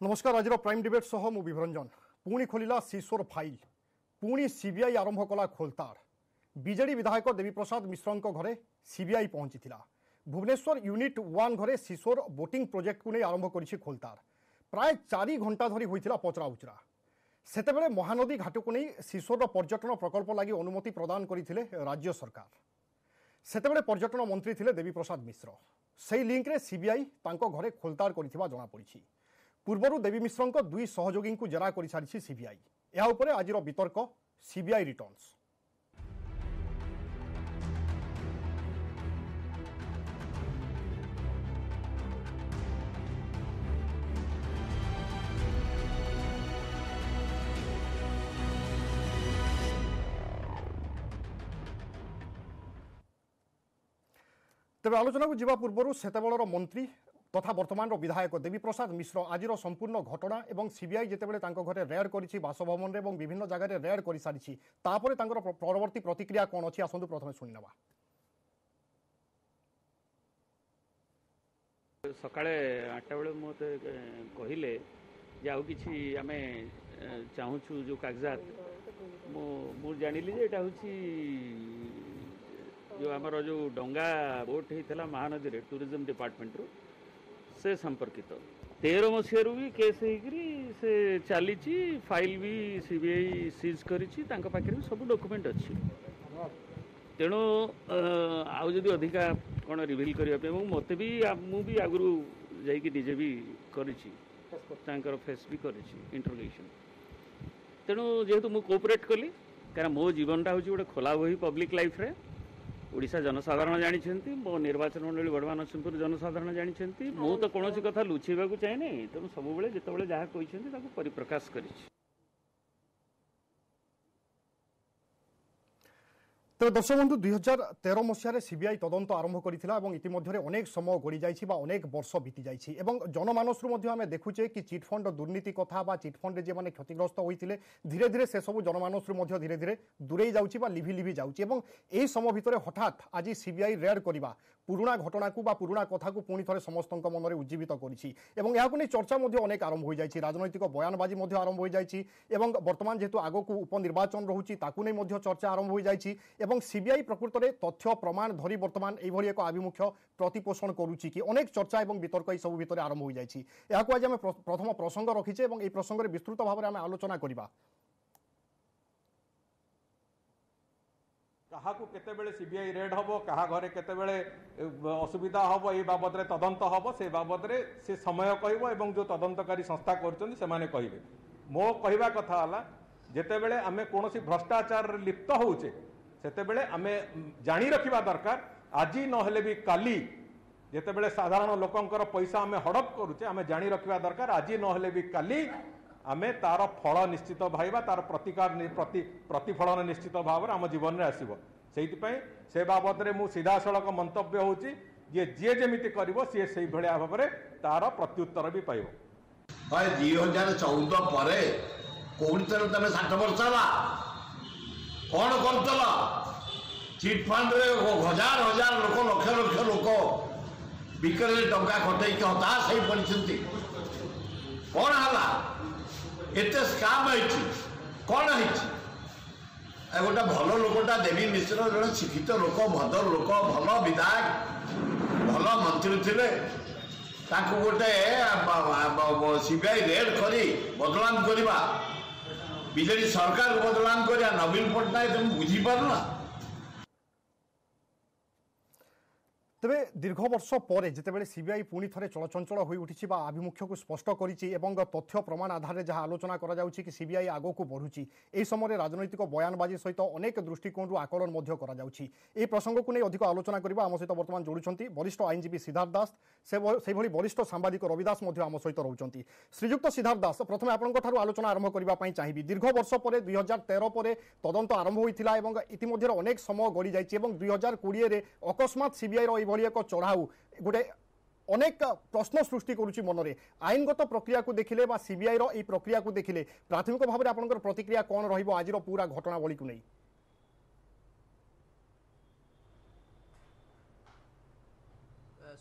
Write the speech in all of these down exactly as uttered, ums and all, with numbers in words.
ନମସ୍କାର ଆଜିର Prime debate ସହ ମୁଁ ବିଭରଞ୍ଜନ ପୁଣି ଖୋଲିଲା ସିସୋର ଫାଇଲ୍ ପୁଣି ସିବିଆଇ ଆରମ୍ଭ କଲା ଖୋଲତାଡ଼ ବିଜେଡି ବିଧାୟକ ଦେବୀପ୍ରସାଦ ମିଶ୍ରଙ୍କ ଘରେ ସିବିଆଇ ପହଞ୍ଚିଥିଲା ଭୁବନେଶ୍ୱର ୟୁନିଟ୍ ୱାନ୍ ଘରେ ସିସୋର ବୋଟିଂ ପ୍ରୋଜେକ୍ଟକୁ ନେଇ ଆରମ୍ଭ କରିଛି ଖୋଲତାଡ଼ ପ୍ରାୟ ଚାରି ଘଣ୍ଟା ଧରି ହୋଇଥିଲା ପଚରାଉଚରା ସେତେବେଳେ ମହାନଦୀ ଘାଟକୁ ନେଇ ସିସୋରର ପର୍ଯ୍ୟଟନ ପ୍ରକଳ୍ପ ଲାଗି ଅନୁମତି ପ୍ରଦାନ କରିଥିଲେ ରାଜ୍ୟ ସରକାର ସେତେବେଳେ ପର୍ଯ୍ୟଟନ ମନ୍ତ୍ରୀ ଥିଲେ ଦେବୀପ୍ରସାଦ ମିଶ୍ର ସେହି ଲିଙ୍କରେ ସିବିଆଇ ତାଙ୍କ ଘରେ ଖୋଲତାଡ଼ କରିଥିବା ଜଣାପଡ଼ିଛି ପୂର୍ବରୁ ଦେବୀ ମିଶ୍ରଙ୍କ ଦୁଇ ସହଯୋଗୀଙ୍କୁ ଜେରା କରିସାରିଛି ସିବିଆଇ ଏହା ଉପରେ ଆଜିର ବିତର୍କ ସିବିଆଇ ରିଟର୍ଣ୍ଣସ୍ ତେବେ ଆଲୋଚନାକୁ ଯିବା ପୂର୍ବରୁ ସେତେବେଳର ମନ୍ତ୍ରୀ ତଥା ବର୍ତ୍ତମାନର ବିଧାୟକ ଦେବୀପ୍ରସାଦ ମିଶ୍ର ଆଜିର ସମ୍ପୂର୍ଣ୍ଣ ଘଟଣା ଏବଂ ସିବିଆଇ ଯେତେବେଳେ ତାଙ୍କ ଘରେ ରେଡ୍ କରିଛି ବାସଭବନରେ ଏବଂ ବିଭିନ୍ନ ଜାଗାରେ ରେଡ୍ କରିସାରିଛି ତାପରେ ତାଙ୍କର ପରବର୍ତ୍ତୀ ପ୍ରତିକ୍ରିୟା କ'ଣ ଅଛି ଆସନ୍ତୁ ପ୍ରଥମେ ଶୁଣିନେବା ସକାଳେ ଆଠଟା ବେଳେ ମୋତେ କହିଲେ ଯେ ଆଉ କିଛି ଆମେ ଚାହୁଁଛୁ ଯେଉଁ କାଗଜାତ ମୁଁ ମୁଁ ଜାଣିଲି ଯେ ଏଇଟା ହେଉଛି ଯେଉଁ ଆମର ଯେଉଁ ଡଙ୍ଗା ବୋଟ୍ ହେଇଥିଲା ମହାନଦୀରେ ଟୁରିଜମ୍ ଡିପାର୍ଟମେଣ୍ଟରୁ ସେ ସମ୍ପର୍କିତ ତେର ମସିହାରୁ ବି କେସ୍ ହେଇକରି ସେ ଚାଲିଛି file B C B I seize କରିଛି ତାଙ୍କ ପାଖରେ ବି ସବୁ ଡକୁମେଣ୍ଟ ଅଛି ତେଣୁ ଆଉ ଯଦି ଅଧିକା କ'ଣ ରିଭିଲ୍ କରିବା ପାଇଁ ଏବଂ ମୋତେ ବି ମୁଁ ବି ଆଗରୁ ଯାଇକି ନିଜେ ବି କରିଛି ତାଙ୍କର ଫେସ୍ ବି କରିଛି ଇଣ୍ଟରୋଗେସନ୍ ତେଣୁ ଯେହେତୁ ମୁଁ କୋଅପରେଟ୍ କଲି କାରଣ ମୋ ଜୀବନଟା ହେଉଛି ଗୋଟେ ଖୋଲା ବହି ପବ୍ଲିକ୍ ଲାଇଫ୍ରେ ଓଡ଼ିଶା ଜନସାଧାରଣ ଜାଣିଛନ୍ତି ମୋ ନିର୍ବାଚନ ମଣ୍ଡଳୀ ବଡ଼ମା ନରସିଂହପୁର ଜନସାଧାରଣ ଜାଣିଛନ୍ତି ମୁଁ ତ କୌଣସି କଥା ଲୁଚେଇବାକୁ ଚାହେଁନି ତେଣୁ ସବୁବେଳେ ଯେତେବେଳେ ଯାହା କହିଛନ୍ତି ତାକୁ ପରିପ୍ରକାଶ କରିଛି ତେବେ ଦର୍ଶକ ବନ୍ଧୁ ଦୁଇ ହଜାର ତେର ମସିହାରେ ସିବିଆଇ ତଦନ୍ତ ଆରମ୍ଭ କରିଥିଲା ଏବଂ ଇତିମଧ୍ୟରେ ଅନେକ ସମୟ ଗଡ଼ିଯାଇଛି ବା ଅନେକ ବର୍ଷ ବିତିଯାଇଛି ଏବଂ ଜନମାନସରୁ ମଧ୍ୟ ଆମେ ଦେଖୁଛେ କି ଚିଟ୍ଫଣ୍ଡ ଦୁର୍ନୀତି କଥା ବା ଚିଟ୍ଫଣ୍ଡରେ ଯେଉଁମାନେ କ୍ଷତିଗ୍ରସ୍ତ ହୋଇଥିଲେ ଧୀରେ ଧୀରେ ସେସବୁ ଜନମାନସରୁ ମଧ୍ୟ ଧୀରେ ଧୀରେ ଦୂରେଇ ଯାଉଛି ବା ଲିଭି ଲିଭି ଯାଉଛି ଏବଂ ଏହି ସମୟ ଭିତରେ ହଠାତ୍ ଆଜି ସିବିଆଇ ରେଡ୍ କରିବା ପୁରୁଣା ଘଟଣାକୁ ବା ପୁରୁଣା କଥାକୁ ପୁଣି ଥରେ ସମସ୍ତଙ୍କ ମନରେ ଉଜ୍ଜୀବିତ କରିଛି ଏବଂ ଏହାକୁ ନେଇ ଚର୍ଚ୍ଚା ମଧ୍ୟ ଅନେକ ଆରମ୍ଭ ହୋଇଯାଇଛି ରାଜନୈତିକ ବୟାନବାଜି ମଧ୍ୟ ଆରମ୍ଭ ହୋଇଯାଇଛି ଏବଂ ବର୍ତ୍ତମାନ ଯେହେତୁ ଆଗକୁ ଉପନିର୍ବାଚନ ରହୁଛି ତାକୁ ନେଇ ମଧ୍ୟ ଚର୍ଚ୍ଚା ଆରମ୍ଭ ହୋଇଯାଇଛି ଏବଂ ସିବିଆଇ ପ୍ରକୃତରେ ତଥ୍ୟ ପ୍ରମାଣ ଧରି ବର୍ତ୍ତମାନ ଏଇଭଳି ଏକ ଆଭିମୁଖ୍ୟ ପ୍ରତିପୋଷଣ କରୁଛି କି ଅନେକ ଚର୍ଚ୍ଚା ଏବଂ ବିତର୍କ ଏସବୁ ଭିତରେ ଆରମ୍ଭ ହୋଇଯାଇଛି ଏହାକୁ ଆଜି ଆମେ ପ୍ରଥମ ପ୍ରସଙ୍ଗ ରଖିଛେ ଏବଂ ଏହି ପ୍ରସଙ୍ଗରେ ବିସ୍ତୃତ ଭାବରେ ଆମେ ଆଲୋଚନା କରିବା କାହାକୁ କେତେବେଳେ ସିବିଆଇ ରେଡ୍ ହେବ କାହା ଘରେ କେତେବେଳେ ଅସୁବିଧା ହେବ ଏଇ ବାବଦରେ ତଦନ୍ତ ହେବ ସେ ବାବଦରେ ସେ ସମୟ କହିବ ଏବଂ ଯେଉଁ ତଦନ୍ତକାରୀ ସଂସ୍ଥା କରୁଛନ୍ତି ସେମାନେ କହିବେ ମୋ କହିବା କଥା ହେଲା ଯେତେବେଳେ ଆମେ କୌଣସି ଭ୍ରଷ୍ଟାଚାରରେ ଲିପ୍ତ ହେଉଛେ ସେତେବେଳେ ଆମେ ଜାଣି ରଖିବା ଦରକାର ଆଜି ନହେଲେ ବି କାଲି ଯେତେବେଳେ ସାଧାରଣ ଲୋକଙ୍କର ପଇସା ଆମେ ହଡ଼ପ କରୁଛେ ଆମେ ଜାଣି ରଖିବା ଦରକାର ଆଜି ନହେଲେ ବି କାଲି ଆମେ ତାର ଫଳ ନିଶ୍ଚିତ ଭାଇବା ତାର ପ୍ରତିକାର ପ୍ରତି ପ୍ରତିଫଳନ ନିଶ୍ଚିତ ଭାବରେ ଆମ ଜୀବନରେ ଆସିବ ସେଇଥିପାଇଁ ସେ ବାବଦରେ ମୁଁ ସିଧାସଳଖ ମନ୍ତବ୍ୟ ହେଉଛି ଯେ ଯିଏ ଯେମିତି କରିବ ସିଏ ସେଇଭଳିଆ ଭାବରେ ତାର ପ୍ରତ୍ୟୁତ୍ତର ବି ପାଇବ ଦୁଇ ହଜାର ଚଉଦ ପରେ କୋଉଠି ତମେ ଷାଠ ବର୍ଷ ହେଲା କ'ଣ କରୁଥିଲ ଚିଟ୍ଫଣ୍ଡରେ ହଜାର ହଜାର ଲୋକ ଲକ୍ଷ ଲକ୍ଷ ଲୋକ ବିକଳରେ ଟଙ୍କା ଖଟେଇକି ହତାଶ ହେଇ ପଡ଼ିଛନ୍ତି କ'ଣ ହେଲା ଏତେ ସ୍କାମ୍ ହେଇଛି କ'ଣ ହେଇଛି ଆଉ ଗୋଟେ ଭଲ ଲୋକଟା ଦେବୀ ମିଶ୍ର ଜଣେ ଶିକ୍ଷିତ ଲୋକ ଭଦ୍ର ଲୋକ ଭଲ ବିଧାୟକ ଭଲ ମନ୍ତ୍ରୀ ଥିଲେ ତାଙ୍କୁ ଗୋଟେ ସିବିଆଇ ରେଡ୍ କରି ବଦନାମ କରିବା ବିଜେଡି ସରକାରକୁ ବଦନାମ କରିବା ନବୀନ ପଟ୍ଟନାୟକ ତମେ ବୁଝିପାରୁନା ତେବେ ଦୀର୍ଘ ବର୍ଷ ପରେ ଯେତେବେଳେ ସିବିଆଇ ପୁଣି ଥରେ ଚଳଚଞ୍ଚଳ ହୋଇଉଠିଛି ବା ଆଭିମୁଖ୍ୟକୁ ସ୍ପଷ୍ଟ କରିଛି ଏବଂ ତଥ୍ୟ ପ୍ରମାଣ ଆଧାରରେ ଯାହା ଆଲୋଚନା କରାଯାଉଛି କି ସିବିଆଇ ଆଗକୁ ବଢ଼ୁଛି ଏହି ସମୟରେ ରାଜନୈତିକ ବୟାନବାଜି ସହିତ ଅନେକ ଦୃଷ୍ଟିକୋଣରୁ ଆକଳନ ମଧ୍ୟ କରାଯାଉଛି ଏହି ପ୍ରସଙ୍ଗକୁ ନେଇ ଅଧିକ ଆଲୋଚନା କରିବା ଆମ ସହିତ ବର୍ତ୍ତମାନ ଯୋଡ଼ୁଛନ୍ତି ବରିଷ୍ଠ ଆଇନଜୀବୀ ସିଦ୍ଧାର୍ଥ ଦାସ ସେହିଭଳି ବରିଷ୍ଠ ସାମ୍ବାଦିକ ରବି ଦାସ ମଧ୍ୟ ଆମ ସହିତ ରହୁଛନ୍ତି ଶ୍ରୀଯୁକ୍ତ ସିଦ୍ଧାର୍ଥ ଦାସ ପ୍ରଥମେ ଆପଣଙ୍କ ଠାରୁ ଆଲୋଚନା ଆରମ୍ଭ କରିବା ପାଇଁ ଚାହିଁବି ଦୀର୍ଘ ବର୍ଷ ପରେ ଦୁଇ ହଜାର ତେର ପରେ ତଦନ୍ତ ଆରମ୍ଭ ହୋଇଥିଲା ଏବଂ ଇତିମଧ୍ୟରେ ଅନେକ ସମୟ ଗଡ଼ିଯାଇଛି ଏବଂ ଦୁଇ ହଜାର କୋଡ଼ିଏରେ ଅକସ୍ମାତ ସିବିଆଇର ଏଇଭଳି ଏକ ଚଢ଼ାଉ ଗୋଟେ ଅନେକ ପ୍ରଶ୍ନ ସୃଷ୍ଟି କରୁଛି ମନରେ ଆଇନଗତ ପ୍ରକ୍ରିୟାକୁ ଦେଖିଲେ ବା ସିବିଆଇର ଏଇ ପ୍ରକ୍ରିୟାକୁ ଦେଖିଲେ ପ୍ରାଥମିକ ଭାବରେ ଆପଣଙ୍କର ପ୍ରତିକ୍ରିୟା କ'ଣ ରହିବ ଆଜିର ପୁରା ଘଟଣାବଳୀକୁ ନେଇ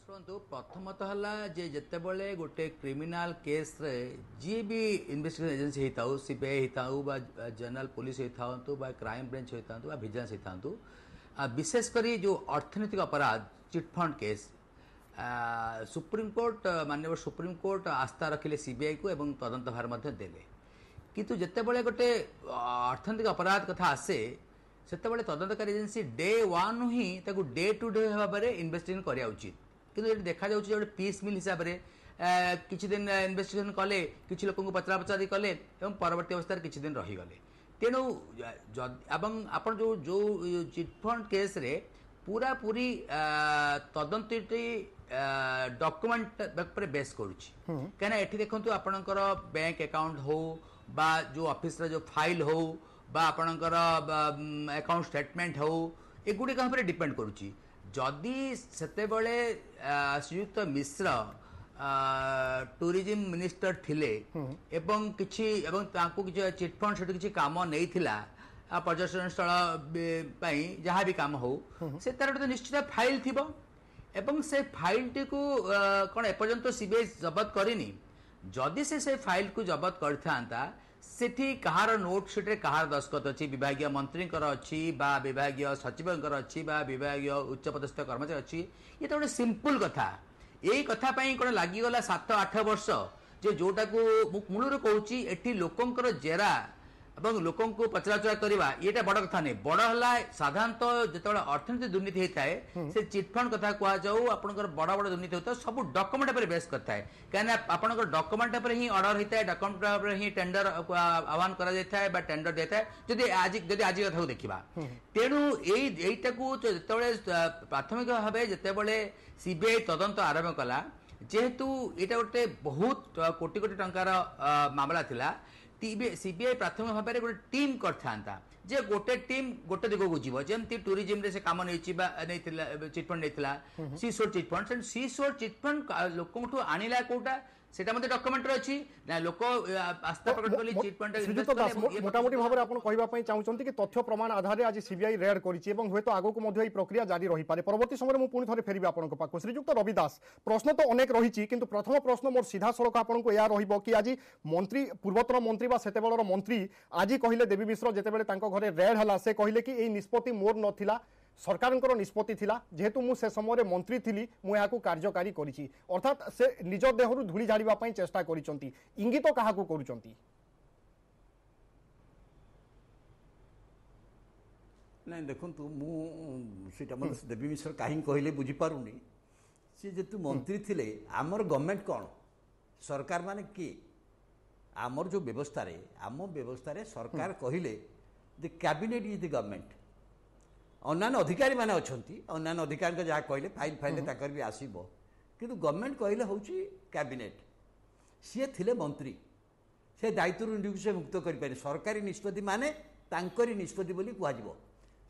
ଶୁଣନ୍ତୁ, ପ୍ରଥମତଃ ହେଲା ଯେ ଯେତେବେଳେ ଗୋଟେ କ୍ରିମିନାଲ କେସ୍ରେ ଯିଏ ବି ଇନଭେଷ୍ଟିଗେସନ ଏଜେନ୍ସି ହେଇଥାଉ, ସିବିଆଇ ହେଇଥାଉ ବା ଜେନେରାଲ ପୋଲିସ ହେଇଥାନ୍ତୁ ବା କ୍ରାଇମ ବ୍ରାଞ୍ଚ ହେଇଥାନ୍ତୁ ବା ଭିଜିଲାନ୍ସ ହେଇଥାନ୍ତୁ, ବିଶେଷ କରି ଯେଉଁ ଅର୍ଥନୈତିକ ଅପରାଧ ଚିଟଫଣ୍ଡ କେସ୍, ସୁପ୍ରିମକୋର୍ଟ, ମାନ୍ୟବର ସୁପ୍ରିମକୋର୍ଟ ଆସ୍ଥା ରଖିଲେ ସିବିଆଇକୁ ଏବଂ ତଦନ୍ତ ଭାର ମଧ୍ୟ ଦେଲେ। କିନ୍ତୁ ଯେତେବେଳେ ଗୋଟେ ଅର୍ଥନୈତିକ ଅପରାଧ କଥା ଆସେ, ସେତେବେଳେ ତଦନ୍ତକାରୀ ଏଜେନ୍ସି ଡେ ୱାନ୍ ହିଁ ତାକୁ ଡେ ଟୁ ଡେ ଭାବରେ ଇନଭେଷ୍ଟିଗେସନ କରିବା ଉଚିତ। କିନ୍ତୁ ଏଠି ଦେଖାଯାଉଛି ଯେ ଗୋଟେ ପିସ୍ ମିଲ୍ ହିସାବରେ କିଛି ଦିନ ଇନଭେଷ୍ଟିଗେସନ କଲେ, କିଛି ଲୋକଙ୍କୁ ପଚରା ପଚାରି କଲେ ଏବଂ ପରବର୍ତ୍ତୀ ଅବସ୍ଥାରେ କିଛି ଦିନ ରହିଗଲେ। ତେଣୁ ଏବଂ ଆପଣ ଯେଉଁ ଯେଉଁ ଚିଟଫଣ୍ଡ କେସ୍ରେ ପୁରାପୁରି ତଦନ୍ତଟି ଡକୁମେଣ୍ଟ ଉପରେ ବେସ୍ କରୁଛି, କାହିଁକିନା ଏଠି ଦେଖନ୍ତୁ ଆପଣଙ୍କର ବ୍ୟାଙ୍କ ଆକାଉଣ୍ଟ ହଉ ବା ଯେଉଁ ଅଫିସର ଯେଉଁ ଫାଇଲ୍ ହଉ ବା ଆପଣଙ୍କର ଆକାଉଣ୍ଟ ଷ୍ଟେଟମେଣ୍ଟ ହଉ, ଏଗୁଡ଼ିକ ଉପରେ ଡିପେଣ୍ଡ କରୁଛି। ଯଦି ସେତେବେଳେ ଶ୍ରୀଯୁକ୍ତ ମିଶ୍ର ଟୁରିଜିମ୍ ମିନିଷ୍ଟର ଥିଲେ ଏବଂ କିଛି ଏବଂ ତାଙ୍କୁ କିଛି ଚିଟଫଣ୍ଡ ସେଠୁ କିଛି କାମ ନେଇଥିଲା, ପର୍ଯ୍ୟଟନ ସ୍ଥଳ ପାଇଁ ଯାହା ବି କାମ ହଉ, ସେ ତାର ଗୋଟେ ନିଶ୍ଚିତ ଫାଇଲ୍ ଥିବ ଏବଂ ସେ ଫାଇଲ୍ଟିକୁ କ'ଣ ଏପର୍ଯ୍ୟନ୍ତ ସିବିଆଇ ଜବତ କରିନି? ଯଦି ସେ ସେ ଫାଇଲ୍କୁ ଜବତ କରିଥାନ୍ତା, ସେଠି କାହାର ନୋଟ୍ ସିଟ୍ରେ କାହାର ଦସ୍ତଖତ ଅଛି, ବିଭାଗୀୟ ମନ୍ତ୍ରୀଙ୍କର ଅଛି ବା ବିଭାଗୀୟ ସଚିବଙ୍କର ଅଛି ବା ବିଭାଗୀୟ ଉଚ୍ଚପଦସ୍ଥ କର୍ମଚାରୀ ଅଛି, ଇଏ ତ ଗୋଟେ ସିମ୍ପଲ୍ କଥା। ଏଇ କଥା ପାଇଁ କ'ଣ ଲାଗିଗଲା ସାତ ଆଠ ବର୍ଷ? ଯେ ଯୋଉଟାକୁ ମୁଁ ମୂଳରୁ କହୁଛି, ଏଠି ଲୋକଙ୍କର ଜେରା ଏବଂ ଲୋକଙ୍କୁ ପଚରାଉଚରା କରିବା ଏଇଟା ବଡ଼ କଥା ନୁହେଁ। ବଡ଼ ହେଲା ସାଧାରଣତଃ ଯେତେବେଳେ ଅର୍ଥନୀତି ଦୁର୍ନୀତି ହେଇଥାଏ, ସେ ଚିଟଫଣ୍ଡ କଥା କୁହାଯାଉ, ଆପଣଙ୍କର ବଡ଼ ବଡ଼ ଦୁର୍ନୀତି ହେଉଥାଏ, ସବୁ ଡକୁମେଣ୍ଟ ଉପରେ ବେସ୍ କରିଥାଏ। କାହିଁକିନା ଆପଣଙ୍କର ଡକୁମେଣ୍ଟ ଉପରେ ହିଁ ଅର୍ଡର ହେଇଥାଏ, ଡକୁମେଣ୍ଟ ଉପରେ ହିଁ ଟେଣ୍ଡର ଆହ୍ୱାନ କରାଯାଇଥାଏ ବା ଟେଣ୍ଡର ଦେଇଥାଏ, ଯଦି ଆଜି ଯଦି ଆଜି କଥାକୁ ଦେଖିବା। ତେଣୁ ଏଇ ଏଇଟାକୁ ଯେତେବେଳେ ପ୍ରାଥମିକ ଭାବେ ଯେତେବେଳେ ସିବିଆଇ ତଦନ୍ତ ଆରମ୍ଭ କଲା, ଯେହେତୁ ଏଇଟା ଗୋଟେ ବହୁତ କୋଟି କୋଟି ଟଙ୍କାର ମାମଲା ଥିଲା, ସିବିଆଇ ପ୍ରାଥମିକ ଭାବରେ ଗୋଟେ ଟିମ୍ କରିଥାନ୍ତା ଯେ ଗୋଟେ ଟିମ୍ ଗୋଟେ ଦିଗକୁ ଯିବ। ଯେମିତି ଟୁରିଜିମରେ ସେ କାମ ନେଇଛି ବା ନେଇଥିଲା, ଚିଟଫଣ୍ଡ ନେଇଥିଲା, ସିସୋର ଚିଟଫଣ୍ଡ, ସିସୋର ଚିଟଫଣ୍ଡ ଲୋକଙ୍କଠୁ ଆଣିଲା କୋଉଟା, ସେଟା ମଧ୍ୟ ଡକ୍ୟୁମେଣ୍ଟରେ ଅଛି ନା ଲୋକ ଆସ୍ଥା ପ୍ରକଟ କଲେ ଚିଟଫଣ୍ଡ। ଶ୍ରୀଯୁକ୍ତ ଦାସ, ମୋଟାମୋଟି ଭାବରେ ଆପଣ କହିବା ପାଇଁ ଚାହୁଁଛନ୍ତି କି ତଥ୍ୟ ପ୍ରମାଣ ଆଧାରରେ ଆଜି ସିବିଆଇ ରେଡ୍ କରିଛି ଏବଂ ହୁଏତ ଆଗକୁ ମଧ୍ୟ ଏହି ପ୍ରକ୍ରିୟା ଜାରି ରହିପାରେ। ପରବର୍ତ୍ତୀ ସମୟରେ ମୁଁ ପୁଣି ଥରେ ଫେରିବି ଆପଣଙ୍କ ପାଖକୁ। ଶ୍ରୀଯୁକ୍ତ ରବି ଦାସ, ପ୍ରଶ୍ନ ତ ଅନେକ ରହିଛି, କିନ୍ତୁ ପ୍ରଥମ ପ୍ରଶ୍ନ ମୋର ସିଧାସଳଖ ଆପଣଙ୍କୁ ଏହା ରହିବ କି ଆଜି ମନ୍ତ୍ରୀ, ପୂର୍ବତନ ମନ୍ତ୍ରୀ ବା ସେତେବେଳର ମନ୍ତ୍ରୀ ଆଜି କହିଲେ, ଦେବୀ ମିଶ୍ର ଯେତେବେଳେ ତାଙ୍କ ଘରେ ରେଡ୍ ହେଲା ସେ କହିଲେ କି ଏଇ ନିଷ୍ପତ୍ତି ମୋର ନଥିଲା, ସରକାରଙ୍କର ନିଷ୍ପତ୍ତି ଥିଲା, ଯେହେତୁ ମୁଁ ସେ ସମୟରେ ମନ୍ତ୍ରୀ ଥିଲି ମୁଁ ଏହାକୁ କାର୍ଯ୍ୟକାରୀ କରିଛି। ଅର୍ଥାତ୍ ସେ ନିଜ ଦେହରୁ ଧୂଳି ଝାଡ଼ିବା ପାଇଁ ଚେଷ୍ଟା କରିଛନ୍ତି। ଇଙ୍ଗିତ କାହାକୁ କରୁଛନ୍ତି? ନାଇଁ ଦେଖନ୍ତୁ, ମୁଁ ସେଇଟା ମୋତେ ଦେବୀ ମିଶ୍ର କାହିଁକି କହିଲେ ବୁଝିପାରୁନି। ସିଏ ଯେହେତୁ ମନ୍ତ୍ରୀ ଥିଲେ, ଆମର ଗଭର୍ଣ୍ଣମେଣ୍ଟ କ'ଣ, ସରକାର ମାନେ କିଏ? ଆମର ଯେଉଁ ବ୍ୟବସ୍ଥାରେ, ଆମ ବ୍ୟବସ୍ଥାରେ ସରକାର କହିଲେ the cabinet is the government. ଅନ୍ୟାନ୍ୟ ଅଧିକାରୀମାନେ ଅଛନ୍ତି, ଅନ୍ୟାନ୍ୟ ଅଧିକାରୀଙ୍କ ଯାହା କହିଲେ ଫାଇଲ୍ ଫାଇଲ୍ରେ ତାଙ୍କର ବି ଆସିବ, କିନ୍ତୁ ଗଭର୍ଣ୍ଣମେଣ୍ଟ କହିଲେ ହେଉଛି କ୍ୟାବିନେଟ୍। ସିଏ ଥିଲେ ମନ୍ତ୍ରୀ, ସେ ଦାୟିତ୍ୱରୁ ନିଜକୁ ସେ ମୁକ୍ତ କରିପାରିବେ। ସରକାରୀ ନିଷ୍ପତ୍ତି ମାନେ ତାଙ୍କରି ନିଷ୍ପତ୍ତି ବୋଲି କୁହାଯିବ।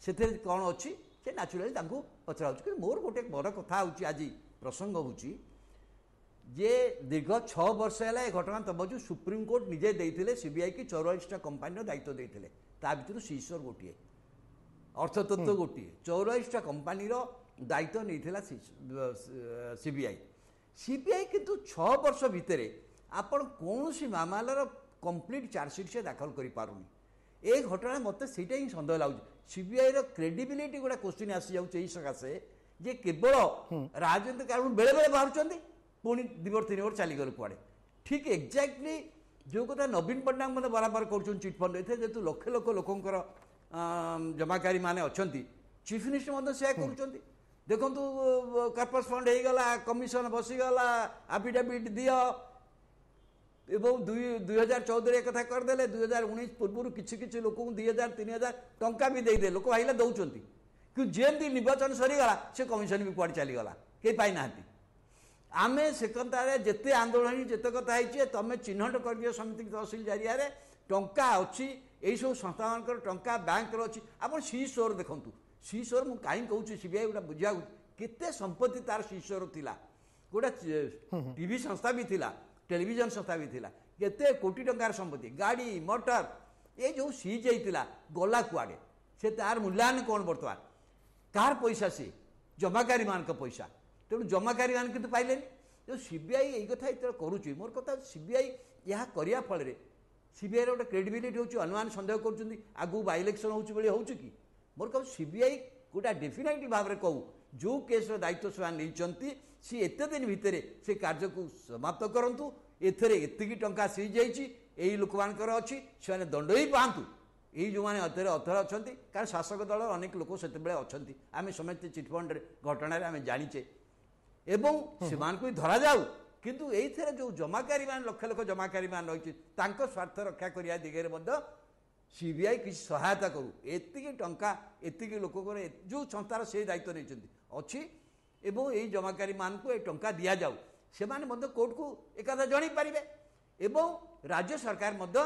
ସେଥିରେ କ'ଣ ଅଛି ସେ ନ୍ୟାଚୁରାଲି ତାଙ୍କୁ ପଚରା ହେଉଛି। କିନ୍ତୁ ମୋର ଗୋଟେ ବଡ଼ କଥା ହେଉଛି, ଆଜି ପ୍ରସଙ୍ଗ ହେଉଛି ଯେ ଦୀର୍ଘ ଛଅ ବର୍ଷ ହେଲା ଏ ଘଟଣା ତମକୁ ସୁପ୍ରିମକୋର୍ଟ ନିଜେ ଦେଇଥିଲେ ସିବିଆଇ କି ଚଉରାଳିଶଟା କମ୍ପାନୀର ଦାୟିତ୍ୱ ଦେଇଥିଲେ, ତା ଭିତରୁ ସିସୋର ଗୋଟିଏ, ଅର୍ଥତତ୍ତ୍ୱ ଗୋଟିଏ, ଚଉରାଳିଶଟା କମ୍ପାନୀର ଦାୟିତ୍ୱ ନେଇଥିଲା ସିବିଆଇ। ସିବିଆଇ କିନ୍ତୁ ଛଅ ବର୍ଷ ଭିତରେ ଆପଣ କୌଣସି ମାମଲାର କମ୍ପ୍ଲିଟ୍ ଚାର୍ଜସିଟ୍ ସେ ଦାଖଲ କରିପାରୁନି। ଏ ଘଟଣା ମୋତେ ସେଇଟା ହିଁ ସନ୍ଦେହ ଲାଗୁଛି। ସିବିଆଇର କ୍ରେଡିବିଲିଟି ଗୋଟେ କୋଶ୍ଚିନ୍ ଆସିଯାଉଛି ଏଇ ସକାଶେ ଯେ କେବଳ ରାଜନୈତିକ କାରଣ ବେଳେବେଳେ ବାହାରୁଛନ୍ତି, ପୁଣି ଦୁଇ ବର୍ଷ ତିନି ବର୍ଷ ଚାଲିଗଲେ କୁଆଡ଼େ। ଠିକ୍ ଏକ୍ଜାକ୍ଟଲି ଯେଉଁ କଥା ନବୀନ ପଟ୍ଟନାୟକ ମଧ୍ୟ ବରାବର କରୁଛନ୍ତି ଚିଟଫଣ୍ଡ, ଏଥିରେ ଯେହେତୁ ଲକ୍ଷ ଲକ୍ଷ ଲୋକଙ୍କର ଜମାକାରୀମାନେ ଅଛନ୍ତି, ଚିଫ୍ ମିନିଷ୍ଟର ମଧ୍ୟ ସେୟା କରୁଛନ୍ତି। ଦେଖନ୍ତୁ, କର୍ପସ୍ ଫଣ୍ଡ ହେଇଗଲା, କମିଶନ ବସିଗଲା, ଆଫିଡାଭିଟ୍ ଦିଅ, ଏବଂ ଦୁଇ ଦୁଇ ହଜାର ଚଉଦରେ ଏକଥା କରିଦେଲେ। ଦୁଇ ହଜାର ଉଣେଇଶ ପୂର୍ବରୁ କିଛି କିଛି ଲୋକଙ୍କୁ ଦୁଇ ହଜାର ତିନି ହଜାର ଟଙ୍କା ବି ଦେଇଦେଲେ, ଲୋକ ଭାବିଲେ ଦେଉଛନ୍ତି, କିନ୍ତୁ ଯେମିତି ନିର୍ବାଚନ ସରିଗଲା ସେ କମିଶନ ବି କୁଆଡ଼େ ଚାଲିଗଲା, କେହି ପାଇନାହାନ୍ତି। ଆମେ ସେ କଥାରେ ଯେତେ ଆନ୍ଦୋଳନ ହେଇଛି, ଯେତେ କଥା ହେଇଛି, ତମେ ଚିହ୍ନଟ କରିଦିଅ ସମିତି ତହସିଲ ଜରିଆରେ ଟଙ୍କା ଅଛି, ଏଇସବୁ ସଂସ୍ଥାମାନଙ୍କର ଟଙ୍କା ବ୍ୟାଙ୍କର ଅଛି। ଆପଣ ସି ସୋର ଦେଖନ୍ତୁ, ସି ସୋର ମୁଁ କାହିଁକି କହୁଛି ସିବିଆଇ ଗୋଟେ ବୁଝିବାକୁ, କେତେ ସମ୍ପତ୍ତି ତାର ସି ସୋର ଥିଲା, ଗୋଟେ ଟିଭି ସଂସ୍ଥା ବି ଥିଲା, ଟେଲିଭିଜନ ସଂସ୍ଥା ବି ଥିଲା, କେତେ କୋଟି ଟଙ୍କାର ସମ୍ପତ୍ତି, ଗାଡ଼ି ମଟର ଏ ଯେଉଁ ସିଜ୍ ହେଇଥିଲା ଗଲା କୁଆଡ଼େ, ସେ ତାର ମୂଲ୍ୟାୟନ କ'ଣ ବର୍ତ୍ତମାନ? କାହାର ପଇସା? ସିଏ ଜମାକାରୀମାନଙ୍କ ପଇସା। ତେଣୁ ଜମାକାରୀମାନେ କିନ୍ତୁ ପାଇଲେନି। ତେଣୁ ସିବିଆଇ ଏଇ କଥା ଯେତେବେଳେ କରୁଛି, ମୋର କଥା ସିବିଆଇ ଏହା କରିବା ଫଳରେ ସିବିଆଇର ଗୋଟେ କ୍ରେଡିବିଲିଟି ହେଉଛି, ଅନ୍ୟମାନେ ସନ୍ଦେହ କରୁଛନ୍ତି ଆଗକୁ ବାଇ ଇଲେକ୍ସନ୍ ହେଉଛି ବୋଲି ହେଉଛି କି। ମୋର କହୁ ସିବିଆଇ ଗୋଟା ଡେଫିନାଇଟଲି ଭାବରେ କହୁ ଯେଉଁ କେସ୍ର ଦାୟିତ୍ୱ ସେମାନେ ନେଇଛନ୍ତି ସିଏ ଏତେ ଦିନ ଭିତରେ ସେ କାର୍ଯ୍ୟକୁ ସମାପ୍ତ କରନ୍ତୁ। ଏଥିରେ ଏତିକି ଟଙ୍କା ସିଜ୍ ହେଇଛି, ଏଇ ଲୋକମାନଙ୍କର ଅଛି, ସେମାନେ ଦଣ୍ଡ ହିଁ ପାଆନ୍ତୁ। ଏଇ ଯେଉଁମାନେ ଏଥିରେ ଅଥର ଅଛନ୍ତି, କାରଣ ଶାସକ ଦଳର ଅନେକ ଲୋକ ସେତେବେଳେ ଅଛନ୍ତି, ଆମେ ସମସ୍ତେ ଚିଟଫଣ୍ଡରେ ଘଟଣାରେ ଆମେ ଜାଣିଛେ, ଏବଂ ସେମାନଙ୍କୁ ବି ଧରାଯାଉ। କିନ୍ତୁ ଏଇଥିରେ ଯେଉଁ ଜମାକାରୀମାନେ ଲକ୍ଷ ଲକ୍ଷ ଜମାକାରୀମାନେ ରହିଛି ତାଙ୍କ ସ୍ୱାର୍ଥ ରକ୍ଷା କରିବା ଦିଗରେ ମଧ୍ୟ ସିବିଆଇ କିଛି ସହାୟତା କରୁ। ଏତିକି ଟଙ୍କା ଏତିକି ଲୋକଙ୍କର ଯେଉଁ ସଂସ୍ଥାର ସେ ଦାୟିତ୍ୱ ନେଇଛନ୍ତି ଅଛି, ଏବଂ ଏଇ ଜମାକାରୀମାନଙ୍କୁ ଏ ଟଙ୍କା ଦିଆଯାଉ, ସେମାନେ ମଧ୍ୟ କୋର୍ଟକୁ ଏକଥା ଜଣାଇ ପାରିବେ। ଏବଂ ରାଜ୍ୟ ସରକାର ମଧ୍ୟ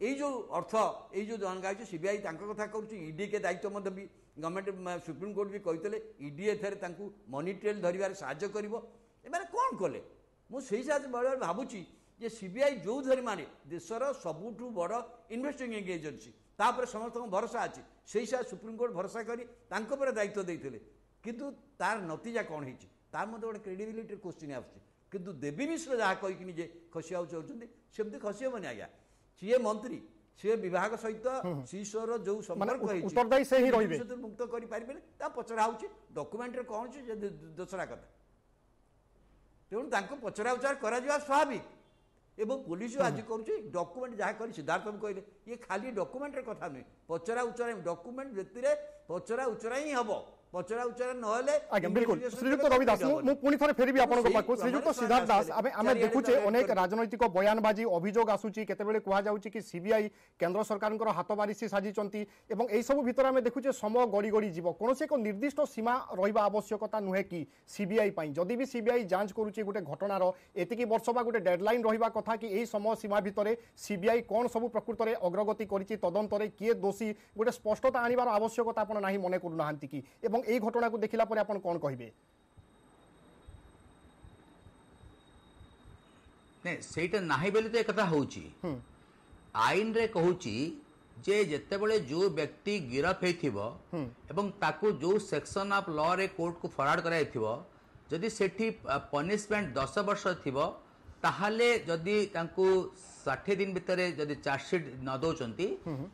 ଏଇ ଯେଉଁ ଅର୍ଥ ଏଇ ଯେଉଁ ଟଙ୍କା ଅଛି ସିବିଆଇ ତାଙ୍କ କଥା କରୁଛି, ଇଡିକେ ଦାୟିତ୍ୱ ମଧ୍ୟ ବି ଗଭର୍ଣ୍ଣମେଣ୍ଟ ସୁପ୍ରିମକୋର୍ଟ ବି କହିଥିଲେ ଇଡି ଏଥିରେ ତାଙ୍କୁ ମନି ଟ୍ରେଲ୍ ଧରିବାରେ ସାହାଯ୍ୟ କରିବ। ଏମାନେ କ'ଣ କଲେ? ମୁଁ ସେଇ ସାହାଯ୍ୟ ବେଳେବେଳେ ଭାବୁଛି ଯେ ସିବିଆଇ ଯେଉଁ ଧରି ମାନେ ଦେଶର ସବୁଠୁ ବଡ଼ ଇନଭେଷ୍ଟିଗେଟିଂ ଏଜେନ୍ସି, ତାପରେ ସମସ୍ତଙ୍କ ଭରସା ଅଛି, ସେଇ ସାହାଯ୍ୟ ସୁପ୍ରିମକୋର୍ଟ ଭରସା କରି ତାଙ୍କ ଉପରେ ଦାୟିତ୍ୱ ଦେଇଥିଲେ, କିନ୍ତୁ ତାର ନତିଜା କ'ଣ ହେଇଛି ତାର ମଧ୍ୟ ଗୋଟେ କ୍ରେଡିବିଲିଟିର କୋଶ୍ଚିନ୍ ଆସୁଛି। କିନ୍ତୁ ଦେବୀ ମିଶ୍ର ଯାହା କହିକି ନିଜେ ଖସିବାକୁ ଚାହୁଁଛନ୍ତି ସେମିତି ଖସି ହେବନି ଆଜ୍ଞା। ସିଏ ମନ୍ତ୍ରୀ, ସିଏ ବିଭାଗ ସହିତ ଶିଶୁର ଯେଉଁ ସମ୍ପର୍କ ହେଇଛି ଉତ୍ତରଦାୟୀ ସେ ହିଁ ରହିବେ, ମୁକ୍ତ କରିପାରିବେନି। ତା ପଚରା ହେଉଛି ଡକୁମେଣ୍ଟରେ କ'ଣ ଅଛି ଯେ ଦୋସରା କଥା, ତେଣୁ ତାଙ୍କୁ ପଚରା ଉଚରା କରାଯିବା ସ୍ୱାଭାବିକ। ଏବଂ ପୋଲିସ ଆଜି କରୁଛି ଡକୁମେଣ୍ଟ ଯାହା କରି ସିଦ୍ଧାର୍ଥ କହିଲେ ଇଏ ଖାଲି ଡକୁମେଣ୍ଟର କଥା ନୁହେଁ, ପଚରା ଉଚରା ଡକୁମେଣ୍ଟ ବ୍ୟକ୍ତିରେ ପଚରା ଉଚରା ହିଁ ହେବ, ପଚରା ଉଚରା ନହେଲେ ଆଜ୍ଞା ବିଲକୁଲ। ଶ୍ରୀଯୁକ୍ତ ରବି ଦାସ, ମୁଁ ପୁଣି ଥରେ ଫେରିବି ଆପଣଙ୍କ ପାଖକୁ। ଶ୍ରୀଯୁକ୍ତ ସିଦ୍ଧାର୍ଥ ଦାସ, ଆମେ ଆମେ ଦେଖୁଛେ ଅନେକ ରାଜନୈତିକ ବୟାନବାଜି ଅଭିଯୋଗ ଆସୁଛି, କେତେବେଳେ କୁହାଯାଉଛି କି ସିବିଆଇ କେନ୍ଦ୍ର ସରକାରଙ୍କର ହାତ ବାରିସି ସାଜିଛନ୍ତି, ଏବଂ ଏଇସବୁ ଭିତରେ ଆମେ ଦେଖୁଛେ ସମୟ ଗଡ଼ି ଗଡ଼ି ଯିବ। କୌଣସି ଏକ ନିର୍ଦ୍ଦିଷ୍ଟ ସୀମା ରହିବା ଆବଶ୍ୟକତା ନୁହେଁ କି ସିବିଆଇ ପାଇଁ? ଯଦି ବି ସିବିଆଇ ଯାଞ୍ଚ କରୁଛି ଗୋଟେ ଘଟଣାର ଏତିକି ବର୍ଷ ବା ଗୋଟେ ଡେଡଲାଇନ୍ ରହିବା କଥା କି ଏହି ସମୟ ସୀମା ଭିତରେ ସିବିଆଇ କ'ଣ ସବୁ ପ୍ରକୃତରେ ଅଗ୍ରଗତି କରିଛି, ତଦନ୍ତରେ କିଏ ଦୋଷୀ, ଗୋଟେ ସ୍ପଷ୍ଟତା ଆଣିବାର ଆବଶ୍ୟକତା ଆପଣ ନାହିଁ ମନେ କରୁନାହାନ୍ତି କି? ଏବଂ এই ঘটনাକୁ ଦେଖିଲା ପରେ ଆପଣ କ'ଣ କହିବେ? ନାଇଁ, ସେଇଟା ନାହିଁ ବୋଲି ତ ଏକଥା ହେଉଛି। ଆଇନରେ କହୁଛି ଯେ ଯେତେବେଳେ ଯୋଉ ବ୍ୟକ୍ତି ଗିରଫ ହେଇଥିବ ଏବଂ ତାକୁ ଯୋଉ ସେକ୍ସନ ଅଫ ଲରେ କୋର୍ଟକୁ ଫରୱାର୍ଡ କରାଯାଇଥିବ, ଯଦି ସେଠି ପନିଶମେଣ୍ଟ ଦଶ ବର୍ଷ ଥିବ, ତାହେଲେ ଯଦି ତାଙ୍କୁ ଷାଠିଏ ଦିନ ଭିତରେ ଯଦି ଚାର୍ଜସିଟ୍ ନ ଦେଉଛନ୍ତି,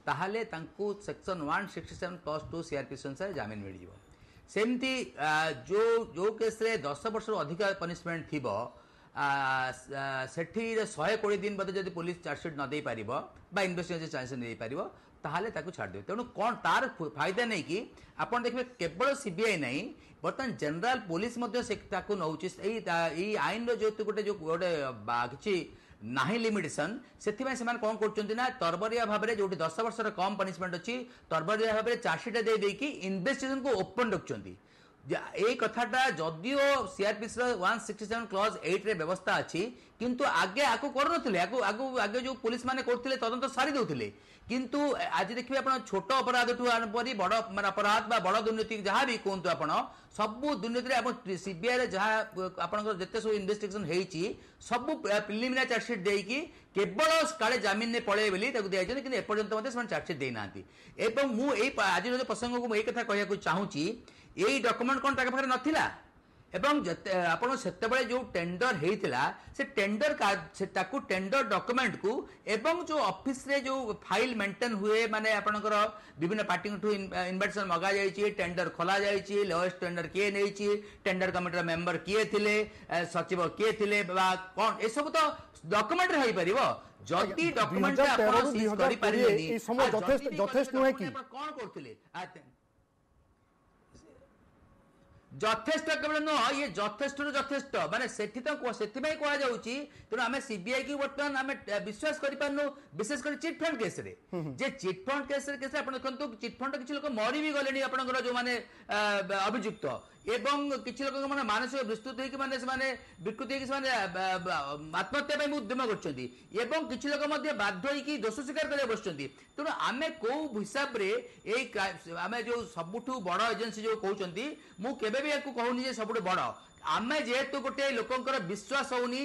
ତାହେଲେ ତାଙ୍କୁ section one sixty seven plus two CrPC ଅନୁସାରେ ଜାମିନ ମିଳିଯିବ। ସେମିତି ଯେଉଁ ଯେଉଁ କେସ୍ରେ ଦଶ ବର୍ଷରୁ ଅଧିକା ପନିଶମେଣ୍ଟ ଥିବ, ସେଠିରେ ଶହେ କୋଡ଼ିଏ ଦିନ ବୋଧେ ଯଦି ପୋଲିସ ଚାର୍ଜସିଟ୍ ନ ଦେଇପାରିବ ବା ଇନଭେଷ୍ଟିଗେସନ୍ ଚାର୍ଜସିଟ୍ ଦେଇପାରିବ, ତାହେଲେ ତାକୁ ଛାଡ଼ିଦେବେ। ତେଣୁ କ'ଣ ତାର ଫାଇଦା ନେଇକି ଆପଣ ଦେଖିବେ କେବଳ ସିବିଆଇ ନାହିଁ, ବର୍ତ୍ତମାନ ଜେନେରାଲ ପୋଲିସ ମଧ୍ୟ ସେ ତାକୁ ନେଉଛି। ଏଇ ଏଇ ଆଇନର ଯେହେତୁ ଗୋଟେ ଯେଉଁ ଗୋଟେ କିଛି ନାହିଁ ଲିମିଟେସନ୍, ସେଥିପାଇଁ ସେମାନେ କ'ଣ କରୁଛନ୍ତି ନା ତରବରିଆ ଭାବରେ ଯେଉଁଠି ଦଶ ବର୍ଷର କମ୍ ପନିଶମେଣ୍ଟ ଅଛି, ତରବରିଆ ଭାବରେ ଚାର୍ଜସିଟ୍ ଦେଇ ଦେଇକି ଇନଭେଷ୍ଟିଗେସନକୁ ଓପନ୍ ରଖୁଛନ୍ତି। ଏଇ କଥାଟା ଯଦିଓ ସିଆରପିସିର ୱାନ୍ ସିକ୍ସଟି ସେଭେନ୍ କ୍ଲଜ୍ ଏଇଟ୍ରେ ବ୍ୟବସ୍ଥା ଅଛି, କିନ୍ତୁ ଆଗେ ଆକୁ କରୁନଥିଲେ, ଆକୁ ଆଗକୁ ଆଗେ ଯେଉଁ ପୋଲିସ ମାନେ କରୁଥିଲେ ତଦନ୍ତ ସାରି ଦେଉଥିଲେ। କିନ୍ତୁ ଆଜି ଦେଖିବେ ଆପଣ ଛୋଟ ଅପରାଧଠୁ ଆରମ୍ଭ କରି ବଡ଼ ମାନେ ଅପରାଧ ବା ବଡ଼ ଦୁର୍ନୀତି ଯାହା ବି କୁହନ୍ତୁ ଆପଣ, ସବୁ ଦୁର୍ନୀତିରେ ଆପଣ ସିବିଆଇରେ ଯାହା ଆପଣଙ୍କର ଯେତେ ସବୁ ଇନଭେଷ୍ଟିଗେସନ ହେଇଛି ସବୁ ପ୍ରିଲିମିନାରୀ ଚାର୍ଜସିଟ୍ ଦେଇକି କେବଳ କାଳେ ଜାମିନରେ ପଳେଇବେ ବୋଲି ତାକୁ ଦିଆଯାଇଛନ୍ତି, କିନ୍ତୁ ଏପର୍ଯ୍ୟନ୍ତ ମଧ୍ୟ ସେମାନେ ଚାର୍ଜସିଟ୍ ଦେଇନାହାନ୍ତି। ଏବଂ ମୁଁ ଏଇ ଆଜିର ଯେଉଁ ପ୍ରସଙ୍ଗକୁ ମୁଁ ଏଇ କଥା କହିବାକୁ ଚାହୁଁଛି, ଏଇ ଡକୁମେଣ୍ଟ କ'ଣ ତାଙ୍କ ପାଖରେ ନଥିଲା? ଏବଂ ଯେତେ ଆପଣ ସେତେବେଳେ ଯେଉଁ ଟେଣ୍ଡର ହେଇଥିଲା ସେ ଟେଣ୍ଡର ତାକୁ ଟେଣ୍ଡର ଡକୁମେଣ୍ଟକୁ ଏବଂ ଯେଉଁ ଅଫିସରେ ଯେଉଁ ଫାଇଲ ମେଣ୍ଟେନ୍ ହୁଏ, ମାନେ ଆପଣଙ୍କର ବିଭିନ୍ନ ପାର୍ଟିଙ୍କଠୁ ଇନଭାଇଟେସନ ମଗାଯାଇଛି, ଟେଣ୍ଡର ଖୋଲା ଯାଇଛି, ଲୋଏଷ୍ଟ ଟେଣ୍ଡର କିଏ ନେଇଛି, ଟେଣ୍ଡର କମିଟିର ମେମ୍ବର କିଏ ଥିଲେ, ସଚିବ କିଏ ଥିଲେ ବା କ'ଣ, ଏସବୁ ତ ଡକୁମେଣ୍ଟରେ ହେଇପାରିବ। ଯଦି ଡକୁମେଣ୍ଟ ଆପଣ ସିଜ୍ କରିପାରିବେନି, ଯଥେଷ୍ଟ ନୁହେଁ କି? କ'ଣ କରୁଥିଲେ? ଯଥେଷ୍ଟ କେବଳ ନୁହଁ, ଇଏ ଯଥେଷ୍ଟରୁ ଯଥେଷ୍ଟ, ମାନେ ସେଠି ତ ସେଥିପାଇଁ କୁହାଯାଉଛି। ତେଣୁ ଆମେ ସିବିଆଇ କି ବର୍ତ୍ତମାନ ଆମେ ବିଶ୍ୱାସ କରିପାରୁନୁ, ବିଶେଷ କରି ଚିଟଫଣ୍ଡ କେସରେ। ଯେ ଚିଟଫଣ୍ଡ କେସରେ କେସରେ ଆପଣ ଦେଖନ୍ତୁ, ଚିଟଫଣ୍ଡ କିଛି ଲୋକ ମରି ବି ଗଲେଣି ଆପଣଙ୍କର ଯୋଉମାନେ ଅଭିଯୁକ୍ତ, ଏବଂ କିଛି ଲୋକଙ୍କ ମାନେ ମାନସିକ ବିସ୍ତୃତ ହେଇକି ମାନେ ସେମାନେ ବିକୃତି ହେଇକି ସେମାନେ ଆତ୍ମହତ୍ୟା ପାଇଁ ଉଦ୍ୟମ କରୁଛନ୍ତି, ଏବଂ କିଛି ଲୋକ ମଧ୍ୟ ବାଧ୍ୟ ହେଇକି ଦୋଷ ସ୍ୱୀକାର କରିବାକୁ ବସୁଛନ୍ତି। ତେଣୁ ଆମେ କୋଉ ହିସାବରେ ଏଇ ଆମେ ଯୋଉ ସବୁଠୁ ବଡ଼ ଏଜେନ୍ସି ଯୋଉ କହୁଛନ୍ତି, ମୁଁ କେବେ ବି ୟାକୁ କହୁନି ଯେ ସବୁଠୁ ବଡ଼। ଆମେ ଯେହେତୁ ଗୋଟେ ଲୋକଙ୍କର ବିଶ୍ୱାସ ହଉନି,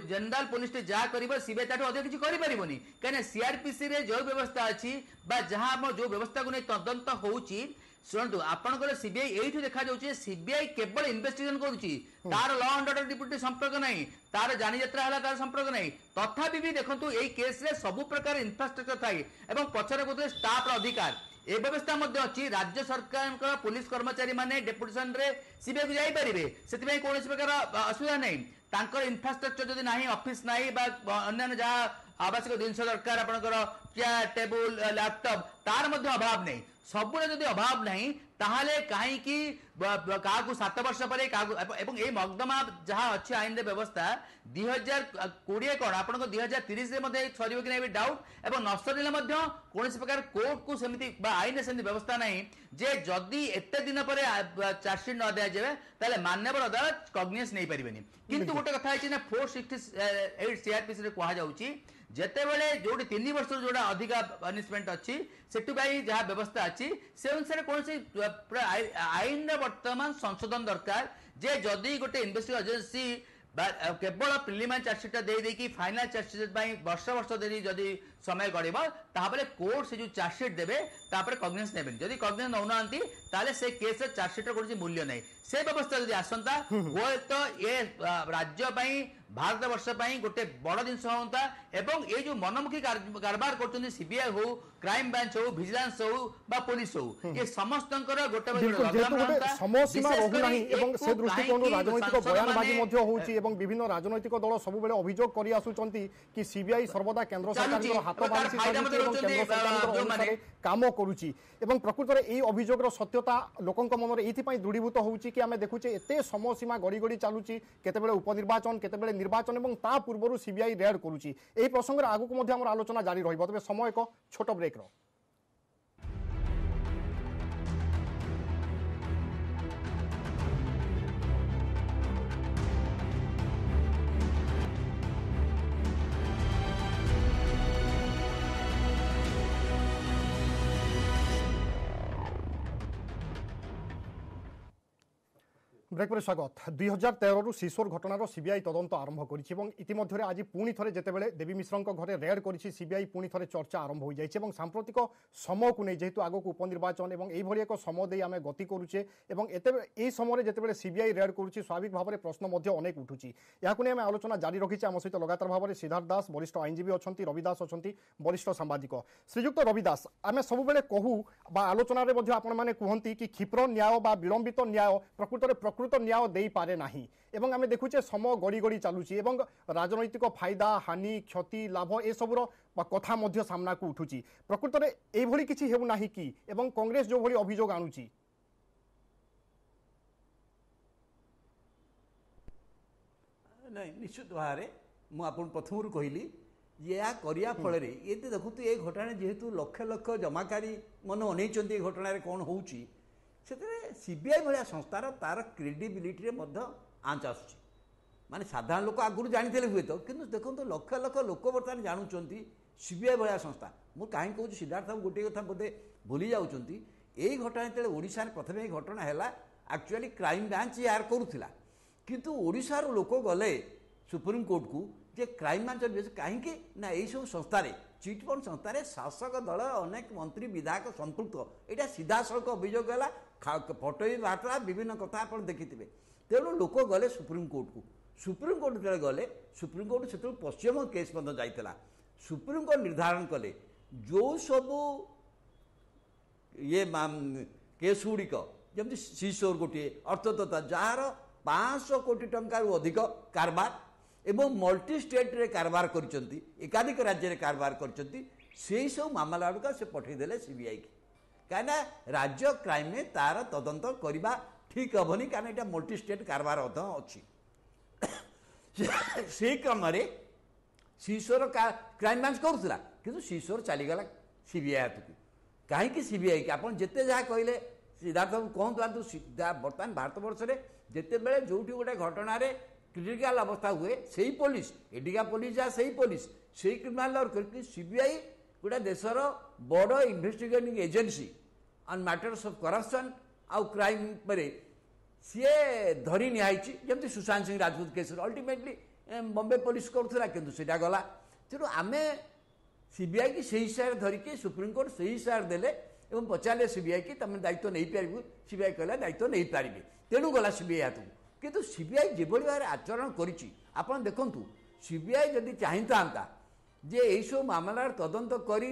ଜେନେରାଲ ପୋଲିସଟେ ଯାହା କରିବ ସିବିଆଇ ତାଠୁ ଅଧିକ କିଛି କରିପାରିବନି, କାହିଁକିନା ସିଆରପିସିରେ ଯେଉଁ ବ୍ୟବସ୍ଥା ଅଛି ବା ଯାହା ଆମ ଯୋଉ ବ୍ୟବସ୍ଥାକୁ ନେଇ ତଦନ୍ତ ହଉଛି, ଶୁଣନ୍ତୁ ଆପଣଙ୍କର ସିବିଆଇ ଏଇଠୁ ଦେଖାଯାଉଛି ସିବିଆଇ କେବଳ ଇନଭେଷ୍ଟିଗେସନ କରୁଛି ତାର ଲ ଆଣ୍ଡ ଅର୍ଡର ଡିପ୍ୟୁଟି ସମ୍ପର୍କ ନାହିଁ ତାର ଯାନିଯାତ୍ରା ହେଲା ତାର ସମ୍ପର୍କ ନାହିଁ ତଥାପି ବି ଦେଖନ୍ତୁ ଏଇ କେସ୍ରେ ସବୁ ପ୍ରକାର ଇନଫ୍ରାଷ୍ଟ୍ରକ୍ଚର ଥାଏ ଏବଂ ପଛରେ କହୁଥିଲେ ଷ୍ଟାଫର ଅଧିକାର ଏ ବ୍ୟବସ୍ଥା ମଧ୍ୟ ଅଛି ରାଜ୍ୟ ସରକାରଙ୍କର ପୋଲିସ କର୍ମଚାରୀ ମାନେ ଡେପୁଟେସନରେ ସିବିଆଇ କୁ ଯାଇପାରିବେ ସେଥିପାଇଁ କୌଣସି ପ୍ରକାର ଅସୁବିଧା ନାହିଁ ତାଙ୍କର ଇନଫ୍ରାଷ୍ଟ୍ରକ୍ଚର ଯଦି ନାହିଁ ଅଫିସ ନାହିଁ ବା ଅନ୍ୟାନ୍ୟ ଯାହା ଆବଶ୍ୟକ ଜିନିଷ ଦରକାର ଆପଣଙ୍କର ଚେୟାର ଟେବୁଲ ଲ୍ୟାପଟପ୍ ତାର ମଧ୍ୟ ଅଭାବ ନାହିଁ ସବୁର ଯଦି ଅଭାବ ନାହିଁ ତାହେଲେ କାହିଁକି କାହାକୁ ସାତ ବର୍ଷ ପରେ କାହାକୁ ଏବଂ ଏଇ ମକଦ୍ଦମା ଯାହା ଅଛି ଆଇନରେ ବ୍ୟବସ୍ଥା ଦୁଇ ହଜାର କୋଡ଼ିଏ କ'ଣ ଆପଣଙ୍କ ଦୁଇ ହଜାର ତିରିଶରେ ମଧ୍ୟ ସରିବ କି ନାହିଁ ଡାଉଟ୍ ଏବଂ ନ ସରିଲେ ମଧ୍ୟ କୌଣସି ପ୍ରକାର କୋର୍ଟକୁ ସେମିତି ବା ଆଇନରେ ସେମିତି ବ୍ୟବସ୍ଥା ନାହିଁ ଯେ ଯଦି ଏତେ ଦିନ ପରେ ଚାର୍ଜସିଟ୍ ନ ଦିଆଯିବେ ତାହେଲେ ମାନ୍ୟବର ଅଦାଲତ କଗ୍ନିଜେନ୍ସ ନେଇପାରିବେନି କିନ୍ତୁ ଗୋଟେ କଥା ହେଇଛି ନା ଫୋର୍ ସିକ୍ସଟି ଏଇଟ୍ ସିଆରପିସିରେ କୁହାଯାଉଛି ଯେତେବେଳେ ଯୋଉଠି ତିନି ବର୍ଷରୁ ଯୋଉଟା ଅଧିକା ପନିଶମେଣ୍ଟ ଅଛି ସେଥିପାଇଁ ଯାହା ବ୍ୟବସ୍ଥା ଅଛି ସେ ଅନୁସାରେ କୌଣସି ଆଇନର ବର୍ତ୍ତମାନ ସଂଶୋଧନ ଦରକାର ଯେ ଯଦି ଗୋଟେ ଇନଭେଷ୍ଟିଗେସନ ଏଜେନ୍ସି କେବଳ ପ୍ରିଲିମିନାରୀ ଚାର୍ଜସିଟ୍ଟା ଦେଇ ଦେଇକି ଫାଇନାଲ ଚାର୍ଜସିଟ୍ ପାଇଁ ବର୍ଷ ବର୍ଷ ଧରି ଯଦି ସମୟ ଗଡ଼ିବ ତାପରେ କୋର୍ଟ ସେ ଯୋଉ ଚାର୍ଜସିଟ୍ ଦେବେ ତାପରେ କଗ୍ନିଜେନ୍ସ ନେବେନି ଯଦି କଗ୍ନିଜେନ୍ସ ନେଉନାହାନ୍ତି ତାହେଲେ ସେ କେସ୍ର ଚାର୍ଜସିଟ୍ର କୌଣସି ମୂଲ୍ୟ ନାହିଁ ସେ ବ୍ୟବସ୍ଥା ଯଦି ଆସନ୍ତା ହୁଏତ ଏ ରାଜ୍ୟ ପାଇଁ ଭାରତ ବର୍ଷ ପାଇଁ ଗୋଟେ ବଡ଼ ଜିନିଷ ହୁଅନ୍ତା ଏବଂ ଏଇ ଯୋଉ ମନମୁଖୀ କାରବାର କରୁଛନ୍ତି ସିବିଆଇ ହଉ କ୍ରାଇମ ବ୍ରାଞ୍ଚ ହଉ ଭିଜିଲାନ୍ସ ହଉ ବା ପୋଲିସ ହଉ ଏ ସମସ୍ତଙ୍କର ଗୋଟେ ଗୋଟେ ସମୟସୀମା ରହୁନାହିଁ ଏବଂ ସେ ଦୃଷ୍ଟିକୋଣରୁ ରାଜନୈତିକ ବୟାନବାଜି ମଧ୍ୟ ହେଉଛି ଏବଂ ବିଭିନ୍ନ ରାଜନୈତିକ ଦଳ ସବୁବେଳେ ଅଭିଯୋଗ କରି ଆସୁଛନ୍ତି କି ସିବିଆଇ ସର୍ବଦା କେନ୍ଦ୍ର ସରକାରଙ୍କର ହାତ ବାନ୍ଧି ସାରିଛି ଏବଂ କେନ୍ଦ୍ର ସରକାରଙ୍କର ଅନୁସାରେ କାମ କରୁଛି ଏବଂ ପ୍ରକୃତରେ ଏହି ଅଭିଯୋଗର ସତ୍ୟତା ଲୋକଙ୍କ ମନରେ ଏଇଥିପାଇଁ ଦୃଢ଼ୀଭୂତ ହେଉଛି କି ଆମେ ଦେଖୁଛେ ଏତେ ସମୟସୀମା ଗଡ଼ି ଗଡ଼ି ଚାଲୁଛି କେତେବେଳେ ଉପନିର୍ବାଚନ କେତେବେଳେ ନିର୍ବାଚନ ଏବଂ ତା ପୂର୍ବରୁ ସିବିଆଇ ରେଡ୍ କରୁଛି ଏହି ପ୍ରସଙ୍ଗରେ ଆଗକୁ ମଧ୍ୟ ଆମର ଆଲୋଚନା ଜାରି ରହିବ ତେବେ ସମୟ ଏକ ଛୋଟ ବ୍ରେକ୍ର ব্রেক পরে স্বাগত দুই হাজার তেরু সিসোর ঘটনার সিবিআই তদন্ত আরম্ভ করেছে এবং ইতিমধ্যে আজ পুঁ থরে যেতবে দেবী মিশ্রঙ্ক ঘরে রেড করেছে সিবিআই পুঁ থরে চর্চা আরম্ভ হয়ে যাই এবং সাম্প্রতিক সময়কু নেই যেহেতু আগক উপনির্বাচন এবং এইভাবে এক সময় দিয়ে আমি গতি করুছে এবং এতে এই সময় যেতবে সিবিআই রেড করুছে স্বাভাবিক ভাবে প্রশ্ন মধ্য অনেক উঠুছি এখন আমি আলোচনা জারি রাখিছি আমার সহ লগাতার ভাবে সিদ্ধার্থ দাস বরিষ্ঠ আইনজীবী অনেক রবি দাস অনেক বরিষ্ঠ সাংবাদিক শ্রীযুক্ত রবি দাস আমি সবুলে কহু বা আলোচনার মধ্যে আপন মানে কুহতি কি ক্ষিপ্র ন্যায় বা বিলম্বিত ন্যায় প্রকৃতরে প্রকৃত ন্যায় দেইপারে না এবং আমি দেখুছে সময় গড়ি গড়ি চালুছি এবং রাজনৈতিক ফায়দা হানি ক্ষতি লাভ এসবুর কথা মধ্য সামনাকু উঠুছি প্রকৃতরে এইভাবে কিছু হেউ না কি এবং কংগ্রেস যেভাবে অভিযোগ আনুছি ନାଇଁ ନିଶ୍ଚିତ ଭାବରେ ମୁଁ ଆପଣଙ୍କୁ ପ୍ରଥମରୁ କହିଲି ଯେ ଏହା କରିବା ଫଳରେ ଏତେ ଦେଖନ୍ତୁ ଏ ଘଟଣା ଯେହେତୁ ଲକ୍ଷ ଲକ୍ଷ ଜମାକାରୀ ମନ ଅନେଇଛନ୍ତି ଏ ଘଟଣାରେ କ'ଣ ହେଉଛି ସେଥିରେ ସିବିଆଇ ଭଳିଆ ସଂସ୍ଥାର ତାର କ୍ରେଡିବିଲିଟିରେ ମଧ୍ୟ ଆଞ୍ଚ ଆସୁଛି ମାନେ ସାଧାରଣ ଲୋକ ଆଗରୁ ଜାଣିଥିଲେ ହୁଏତ କିନ୍ତୁ ଦେଖନ୍ତୁ ଲକ୍ଷ ଲକ୍ଷ ଲୋକ ବର୍ତ୍ତମାନ ଜାଣୁଛନ୍ତି ସିବିଆଇ ଭଳିଆ ସଂସ୍ଥା ମୁଁ କାହିଁକି କହୁଛି ସିଦ୍ଧାର୍ଥ ବାବୁ ଗୋଟିଏ କଥା ବୋଧେ ଭୁଲି ଯାଉଛନ୍ତି ଏଇ ଘଟଣା ଯେତେବେଳେ ଓଡ଼ିଶାରେ ପ୍ରଥମେ ଏଇ ଘଟଣା ହେଲା ଆକ୍ଚୁଆଲି କ୍ରାଇମ୍ ବ୍ରାଞ୍ଚ ଏହାର କରୁଥିଲା କିନ୍ତୁ ଓଡ଼ିଶାର ଲୋକ ଗଲେ ସୁପ୍ରିମକୋର୍ଟକୁ ଯେ କ୍ରାଇମ୍ ବ୍ରାଞ୍ଚର କାହିଁକି ନା ଏଇସବୁ ସଂସ୍ଥାରେ ଚିଟଫଣ୍ଡ ସଂସ୍ଥାରେ ଶାସକ ଦଳ ଅନେକ ମନ୍ତ୍ରୀ ବିଧାୟକ ସମ୍ପୃକ୍ତ ଏଇଟା ସିଧାସଳଖ ଅଭିଯୋଗ ହେଲା ଫଟୋ ବି ବାହାରିଥିଲା ବିଭିନ୍ନ କଥା ଆପଣ ଦେଖିଥିବେ ତେଣୁ ଲୋକ ଗଲେ ସୁପ୍ରିମକୋର୍ଟକୁ ସୁପ୍ରିମକୋର୍ଟ ଯେତେବେଳେ ଗଲେ ସୁପ୍ରିମକୋର୍ଟ ସେତେବେଳେ ପଶ୍ଚିମବଙ୍ଗ କେସ୍ ମଧ୍ୟ ଯାଇଥିଲା ସୁପ୍ରିମକୋର୍ଟ ନିର୍ଦ୍ଧାରଣ କଲେ ଯେଉଁ ସବୁ ଇଏ କେସ୍ ଗୁଡ଼ିକ ଯେମିତି ସିସୋର ଗୋଟିଏ ଅର୍ଥତତ୍ତ୍ୱ ଯାହାର ପାଞ୍ଚଶହ କୋଟି ଟଙ୍କାରୁ ଅଧିକ କାରବାର ଏବଂ ମଲ୍ଟି ଷ୍ଟେଟ୍ରେ କାରବାର କରିଛନ୍ତି ଏକାଧିକ ରାଜ୍ୟରେ କାରବାର କରିଛନ୍ତି ସେଇ ସବୁ ମାମଲା ଗୁଡ଼ିକ ସେ ପଠାଇଦେଲେ ସିବିଆଇକି କାହିଁକିନା ରାଜ୍ୟ କ୍ରାଇମ୍ରେ ତାର ତଦନ୍ତ କରିବା ଠିକ୍ ହେବନି କାରଣ ଏଇଟା ମଲ୍ଟି ଷ୍ଟେଟ୍ କାରବାର ମଧ୍ୟ ଅଛି ସେଇ କ୍ରମରେ ସିସୋର କ୍ରାଇମ୍ ବ୍ରାଞ୍ଚ କରୁଥିଲା କିନ୍ତୁ ସିସୋର ଚାଲିଗଲା ସିବିଆଇ ହାତକୁ କାହିଁକି ସିବିଆଇକି ଆପଣ ଯେତେ ଯାହା କହିଲେ ସିଦ୍ଧାର୍ଥ ବାବୁ କୁହନ୍ତୁ ଆନ୍ତୁ ବର୍ତ୍ତମାନ ଭାରତବର୍ଷରେ ଯେତେବେଳେ ଯେଉଁଠି ଗୋଟେ ଘଟଣାରେ କ୍ରିଟିକାଲ ଅବସ୍ଥା ହୁଏ ସେଇ ପୋଲିସ ଏଠିକା ପୋଲିସ ଯାହା ସେଇ ପୋଲିସ ସେଇ କ୍ରିମିନାଲ ସିବିଆଇ ଗୋଟେ ଦେଶର ବଡ଼ investigating agency on matters of corruption ଆଉ କ୍ରାଇମ୍ ଉପରେ ସିଏ ଧରି ନିଆହେଇଛି ଯେମିତି ସୁଶାନ୍ତ ସିଂ ରାଜପୁତ କେସ୍ରେ ଅଲ୍ଟିମେଟଲି ବମ୍ବେ ପୋଲିସ କରୁଥିଲା କିନ୍ତୁ ସେଇଟା ଗଲା ତେଣୁ ଆମେ ସିବିଆଇକି ସେଇ ହିସାବରେ ଧରିକି ସୁପ୍ରିମକୋର୍ଟ ସେଇ ହିସାବରେ ଦେଲେ ଏବଂ ପଚାରିଲେ ସିବିଆଇ କି ତମେ ଦାୟିତ୍ୱ ନେଇପାରିବୁ ସିବିଆଇ କହିଲା ଦାୟିତ୍ୱ ନେଇପାରିବେ ତେଣୁ ଗଲା ସିବିଆଇ ହାତକୁ କିନ୍ତୁ ସିବିଆଇ ଯେଭଳି ଭାବରେ ଆଚରଣ କରିଛି ଆପଣ ଦେଖନ୍ତୁ ସିବିଆଇ ଯଦି ଚାହିଁଥାନ୍ତା ଯେ ଏଇସବୁ ମାମଲାର ତଦନ୍ତ କରି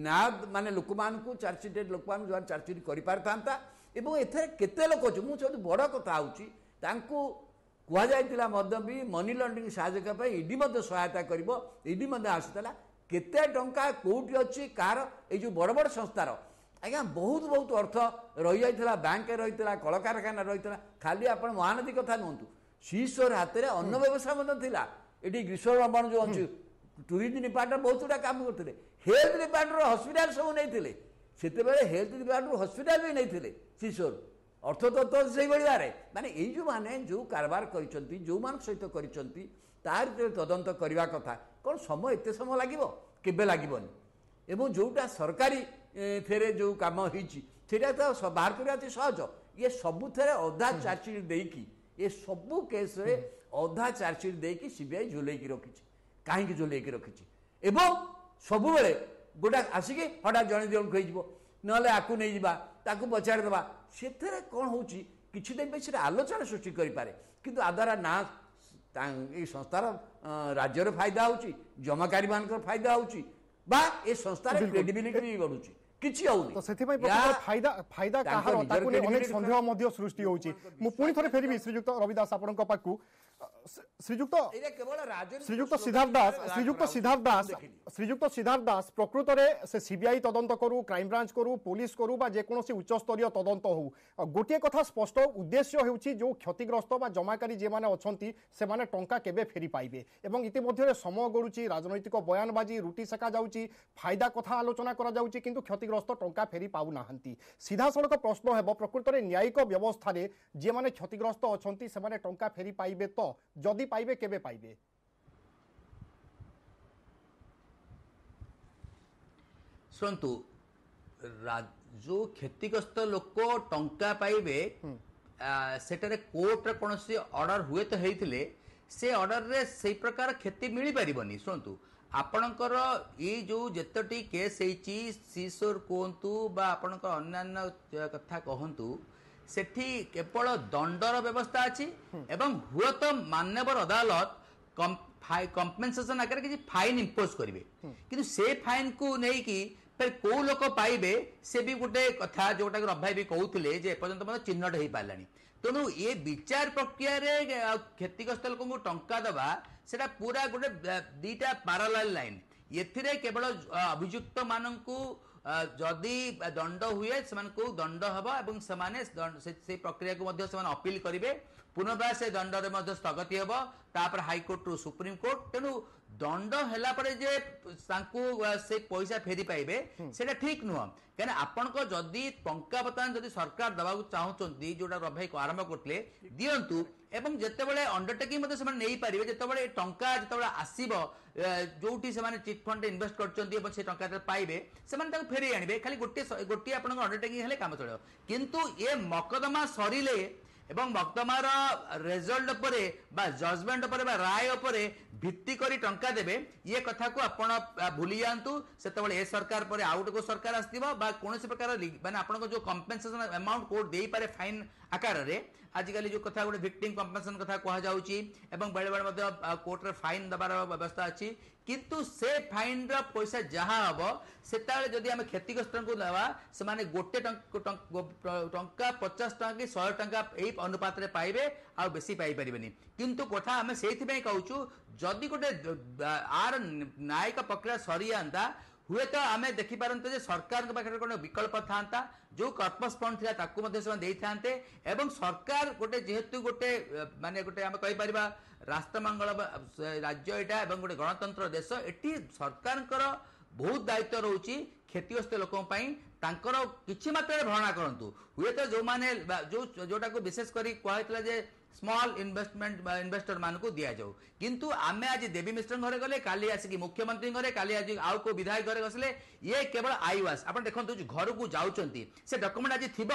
ନା ମାନେ ଲୋକମାନଙ୍କୁ ଚାର୍ଜସିଟେଡ୍ ଲୋକମାନଙ୍କୁ ଯେଉଁମାନେ ଚାର୍ଜସିଟ୍ କରିପାରିଥାନ୍ତା ଏବଂ ଏଥିରେ କେତେ ଲୋକ ଅଛି ମୁଁ ସବୁଠୁ ବଡ଼ କଥା ହେଉଛି ତାଙ୍କୁ କୁହାଯାଇଥିଲା ମଧ୍ୟ ବି ମନି ଲଣ୍ଡରିଂ ସାହାଯ୍ୟ କରିବା ପାଇଁ ଇଡି ମଧ୍ୟ ସହାୟତା କରିବ ଇଡି ମଧ୍ୟ ଆସିଥିଲା କେତେ ଟଙ୍କା କେଉଁଠି ଅଛି କାହାର ଏଇ ଯେଉଁ ବଡ଼ ବଡ଼ ସଂସ୍ଥାର ଆଜ୍ଞା ବହୁତ ବହୁତ ଅର୍ଥ ରହିଯାଇଥିଲା ବ୍ୟାଙ୍କରେ ରହିଥିଲା କଳକାରଖାନା ରହିଥିଲା ଖାଲି ଆପଣ ମହାନଦୀ କଥା ନୁହନ୍ତୁ ସିସୋର ହାତରେ ଅନ୍ନ ବ୍ୟବସାୟ ମଧ୍ୟ ଥିଲା ଏଠି ଗ୍ରୀଷ୍ମ ରମଣ ଯେଉଁ ଅଛି ଟୁରିଜିମ୍ ଡିପାର୍ଟମେଣ୍ଟ ବହୁତ ଗୁଡ଼ା କାମ କରୁଥିଲେ ହେଲ୍ଥ ଡିପାର୍ଟମେଣ୍ଟର ହସ୍ପିଟାଲ ସବୁ ନେଇଥିଲେ ସେତେବେଳେ ହେଲ୍ଥ ଡିପାର୍ଟମେଣ୍ଟ ହସ୍ପିଟାଲ ବି ନେଇଥିଲେ ସିସୋର ଅର୍ଥତତ୍ତ୍ୱ ସେଇଭଳି ଭାବରେ ମାନେ ଏଇ ଯେଉଁମାନେ ଯେଉଁ କାରବାର କରିଛନ୍ତି ଯେଉଁମାନଙ୍କ ସହିତ କରିଛନ୍ତି ତାର ଭିତରେ ତଦନ୍ତ କରିବା କଥା କ'ଣ ସମୟ ଏତେ ସମୟ ଲାଗିବ କେବେ ଲାଗିବନି ଏବଂ ଯେଉଁଟା ସରକାରୀ ଥିରେ ଯେଉଁ କାମ ହେଇଛି ସେଇଟା ତ ବାହାର କରିବା ଅତି ସହଜ ଇଏ ସବୁଥିରେ ଅଧା ଚାର୍ଜସିଟ୍ ଦେଇକି ଏ ସବୁ କେସ୍ରେ ଅଧା ଚାର୍ଜସିଟ୍ ଦେଇକି ସିବିଆଇ ଝୁଲେଇକି ରଖିଛି କାହିଁକି ଝୁଲେଇକି ରଖିଛି ଏବଂ ସବୁବେଳେ ଗୋଟା ଆସିକି ହଠାତ୍ ଜଣେ ଦୁଇ ଜଣକୁ ହେଇଯିବ ନହେଲେ ଆକୁ ନେଇଯିବା ତାକୁ ପଚାରିଦେବା ସେଥିରେ କ'ଣ ହେଉଛି କିଛି ଦିନ ପାଇଁ ସେଟା ଆଲୋଚନା ସୃଷ୍ଟି କରିପାରେ କିନ୍ତୁ ଆଦ୍ୱାରା ନା ଏଇ ସଂସ୍ଥାର ରାଜ୍ୟର ଫାଇଦା ହେଉଛି ଜମାକାରୀମାନଙ୍କର ଫାଇଦା ହେଉଛି ବା ଏ ସଂସ୍ଥାର କ୍ରେଡିବିଲିଟି ବି ବଢୁଛି କିଛି ହଉନି ତ ସେଥିପାଇଁ ଫାଇଦା ଫାଇଦା କାହାର ତାକୁ ନେଇ ଅନେକ ସନ୍ଦେହ ମଧ୍ୟ ସୃଷ୍ଟି ହେଉଛି ମୁଁ ପୁଣି ଥରେ ଫେରିବି ଶ୍ରୀଯୁକ୍ତ ରବି ଦାସ ଆପଣଙ୍କ ପାଖକୁ ଶ୍ରୀଯୁକ୍ତ ଶ୍ରୀଯୁକ୍ତ ସିଦ୍ଧାର୍ଥ ଦାସ ଶ୍ରୀଯୁକ୍ତ ସିଦ୍ଧାର୍ଥ ଦାସ ଶ୍ରୀଯୁକ୍ତ ସିଦ୍ଧାର୍ଥ ଦାସ ପ୍ରକୃତରେ ସେ ସିବିଆଇ ତଦନ୍ତ କରୁ କ୍ରାଇମବ୍ରାଞ୍ଚ କରୁ ପୋଲିସ କରୁ ବା ଯେକୌଣସି ଉଚ୍ଚସ୍ତରୀୟ ତଦନ୍ତ ହଉ ଗୋଟିଏ କଥା ସ୍ପଷ୍ଟ ଉଦ୍ଦେଶ୍ୟ ହେଉଛି ଯେଉଁ କ୍ଷତିଗ୍ରସ୍ତ ବା ଜମାକାରୀ ଯେଉଁମାନେ ଅଛନ୍ତି ସେମାନେ ଟଙ୍କା କେବେ ଫେରି ପାଇବେ ଏବଂ ଇତିମଧ୍ୟରେ ସମୟ ଗଡ଼ୁଛି ରାଜନୈତିକ ବୟାନବାଜି ରୁଟି ସେକା ଯାଉଛି ଫାଇଦା କଥା ଆଲୋଚନା କରାଯାଉଛି କିନ୍ତୁ କ୍ଷତିଗ୍ରସ୍ତ ଟଙ୍କା ଫେରି ପାଉନାହାନ୍ତି ସିଧାସଳଖ ପ୍ରଶ୍ନ ହେବ ପ୍ରକୃତରେ ନ୍ୟାୟିକ ବ୍ୟବସ୍ଥାରେ ଯେଉଁମାନେ କ୍ଷତିଗ୍ରସ୍ତ ଅଛନ୍ତି ସେମାନେ ଟଙ୍କା ଫେରି ପାଇବେ ତ ଯଦି ପାଇବେ କେବେ ପାଇବେ ଶୁଣନ୍ତୁ ଯେଉଁ କ୍ଷତିଗ୍ରସ୍ତ ଲୋକ ଟଙ୍କା ପାଇବେ ସେଠାରେ କୋର୍ଟର କୌଣସି ଅର୍ଡର ହୁଏତ ହେଇଥିଲେ ସେ ଅର୍ଡରରେ ସେଇ ପ୍ରକାର କ୍ଷତି ମିଳିପାରିବନି ଶୁଣନ୍ତୁ ଆପଣଙ୍କର ଏଇ ଯେଉଁ ଯେତୋଟି କେସ୍ ହେଇଛି ସିସୋର କୁହନ୍ତୁ ବା ଆପଣଙ୍କର ଅନ୍ୟାନ୍ୟ କଥା କହନ୍ତୁ ସେଠି କେବଳ ଦଣ୍ଡର ବ୍ୟବସ୍ଥା ଅଛି ଏବଂ ହୁଏତ ମାନ୍ୟବର ଅଦାଲତ କମ୍ପେନସେସନ ଆକାରରେ କିଛି ଫାଇନ୍ ଇମ୍ପୋଜ କରିବେ କିନ୍ତୁ ସେ ଫାଇନ୍କୁ ନେଇକି ଫେର କୋଉ ଲୋକ ପାଇବେ ସେ ବି ଗୋଟେ କଥା ଯୋଉଟାକି ରବି ଭାଇ ବି କହୁଥିଲେ ଯେ ଏପର୍ଯ୍ୟନ୍ତ ମଧ୍ୟ ଚିହ୍ନଟ ହେଇପାରିଲାନି ତେଣୁ ଏ ବିଚାର ପ୍ରକ୍ରିୟାରେ କ୍ଷତିଗ୍ରସ୍ତ ଲୋକଙ୍କୁ ଟଙ୍କା ଦେବା ସେଟା ପୁରା ଗୋଟେ ଦିଟା ପାରାଲାଲ ଲାଇନ୍ ଏଥିରେ କେବଳ ଅଭିଯୁକ୍ତ ମାନଙ୍କୁ ଯଦି ଦଣ୍ଡ ହୁଏ ସେମାନଙ୍କୁ ଦଣ୍ଡ ହେବ ଏବଂ ସେମାନେ ସେଇ ପ୍ରକ୍ରିୟାକୁ ମଧ୍ୟ ସେମାନେ ଅପିଲ କରିବେ ପୁନର୍ବାର ସେ ଦଣ୍ଡରେ ମଧ୍ୟ ସ୍ଥଗତି ହେବ ତାପରେ ହାଇକୋର୍ଟରୁ ସୁପ୍ରିମକୋର୍ଟ ତେଣୁ ଦଣ୍ଡ ହେଲା ପରେ ଯେ ତାଙ୍କୁ ସେ ପଇସା ଫେରି ପାଇବେ ସେଇଟା ଠିକ ନୁହଁ କାହିଁକିନା ଆପଣଙ୍କ ଯଦି ଟଙ୍କା ବର୍ତ୍ତମାନ ଯଦି ସରକାର ଦେବାକୁ ଚାହୁଁଛନ୍ତି ଯୋଉଟା ରବି ଭାଇ ଆରମ୍ଭ କରୁଥିଲେ ଦିଅନ୍ତୁ ଏବଂ ଯେତେବେଳେ ଅଣ୍ଡରଟେକିଂ ମଧ୍ୟ ସେମାନେ ନେଇପାରିବେ ଯେତେବେଳେ ଏ ଟଙ୍କା ଯେତେବେଳେ ଆସିବ ଯୋଉଠି ସେମାନେ ଚିଟ୍ ଫଣ୍ଡରେ ଇନଭେଷ୍ଟ କରିଛନ୍ତି ଏବଂ ସେ ଟଙ୍କା ଯେତେବେଳେ ପାଇବେ ସେମାନେ ତାକୁ ଫେରେଇ ଆଣିବେ ଖାଲି ଗୋଟିଏ ଗୋଟିଏ ଆପଣଙ୍କ ଅଣ୍ଡରଟେକିଂ ହେଲେ କାମ ଚଳିବ କିନ୍ତୁ ଏ ମକଦ୍ଦମା ସରିଲେ ଏବଂ ମକଦ୍ଦମାର ରେଜଲ୍ଟ ଉପରେ ବା ଜଜମେଣ୍ଟ ଉପରେ ବା ରାୟ ଉପରେ ଭିତ୍ତି କରି ଟଙ୍କା ଦେବେ ଇଏ କଥାକୁ ଆପଣ ଭୁଲି ଯାଆନ୍ତୁ ସେତେବେଳେ ଏ ସରକାର ପରେ ଆଉ ଗୋଟେ କୋଉ ସରକାର ଆସିଥିବ ବା କୌଣସି ପ୍ରକାର ମାନେ ଆପଣଙ୍କ ଯୋଉ କମ୍ପେନସେସନ ଆମାଉଣ୍ଟ କୋର୍ଟ ଦେଇପାରେ ଫାଇନ୍ ଆକାରରେ ଆଜିକାଲି ଯୋଉ କଥା ଗୋଟେ ଭିକ୍ଟିମ୍ କମ୍ପେନସେସନ କଥା କୁହାଯାଉଛି ଏବଂ ବେଳେବେଳେ ମଧ୍ୟ କୋର୍ଟରେ ଫାଇନ୍ ଦେବାର ବ୍ୟବସ୍ଥା ଅଛି କିନ୍ତୁ ସେ ଫାଇନ୍ର ପଇସା ଯାହା ହବ ସେତେବେଳେ ଯଦି ଆମେ କ୍ଷତିଗ୍ରସ୍ତଙ୍କୁ ଦେବା ସେମାନେ ଗୋଟେ ଟଙ୍କା ପଚାଶ ଟଙ୍କା କି ଶହେ ଟଙ୍କା ଏଇ ଅନୁପାତରେ ପାଇବେ ଆଉ ବେଶୀ ପାଇପାରିବେନି କିନ୍ତୁ କଥା ଆମେ ସେଇଥିପାଇଁ କହୁଛୁ ଯଦି ଗୋଟେ ଆର ନ୍ୟାୟିକ ପ୍ରକ୍ରିୟା ସରିଯାଆନ୍ତା ହୁଏତ ଆମେ ଦେଖିପାରନ୍ତେ ଯେ ସରକାରଙ୍କ ପାଖରେ କ'ଣ ବିକଳ୍ପ ଥାନ୍ତା ଯୋଉ କର୍ପସ୍ ଫଣ୍ଡ ଥିଲା ତାକୁ ମଧ୍ୟ ସେମାନେ ଦେଇଥାନ୍ତେ ଏବଂ ସରକାର ଗୋଟେ ଯେହେତୁ ଗୋଟେ ମାନେ ଗୋଟେ ଆମେ କହିପାରିବା ରାଷ୍ଟ୍ରମଙ୍ଗଳ ରାଜ୍ୟ ଏଇଟା ଏବଂ ଗୋଟେ ଗଣତନ୍ତ୍ର ଦେଶ ଏଠି ସରକାରଙ୍କର ବହୁତ ଦାୟିତ୍ୱ ରହୁଛି କ୍ଷତିଗ୍ରସ୍ତ ଲୋକଙ୍କ ପାଇଁ ତାଙ୍କର କିଛି ମାତ୍ରାରେ ଭରଣା କରନ୍ତୁ ହୁଏତ ଯୋଉମାନେ ଯୋଉ ଯୋଉଟାକୁ ବିଶେଷ କରି କୁହାହେଇଥିଲା ଯେ ସ୍ମଲ୍ ଇନଭେଷ୍ଟମେଣ୍ଟ ଇନଭେଷ୍ଟର ମାନଙ୍କୁ ଦିଆଯାଉ କିନ୍ତୁ ଆମେ ଆଜି ଦେବୀ ମିଶ୍ରଙ୍କ ଘରେ ଗଲେ କାଲି ଆସିକି ମୁଖ୍ୟମନ୍ତ୍ରୀଙ୍କ ଘରେ କାଲି ଆଜି ଆଉ କୋଉ ବିଧାୟକ ଘରେ ବସିଲେ ଇଏ କେବଳ I wash ଆପଣ ଦେଖନ୍ତୁ ଘରକୁ ଯାଉଛନ୍ତି ସେ ଡକ୍ୟୁମେଣ୍ଟ ଆଜି ଥିବ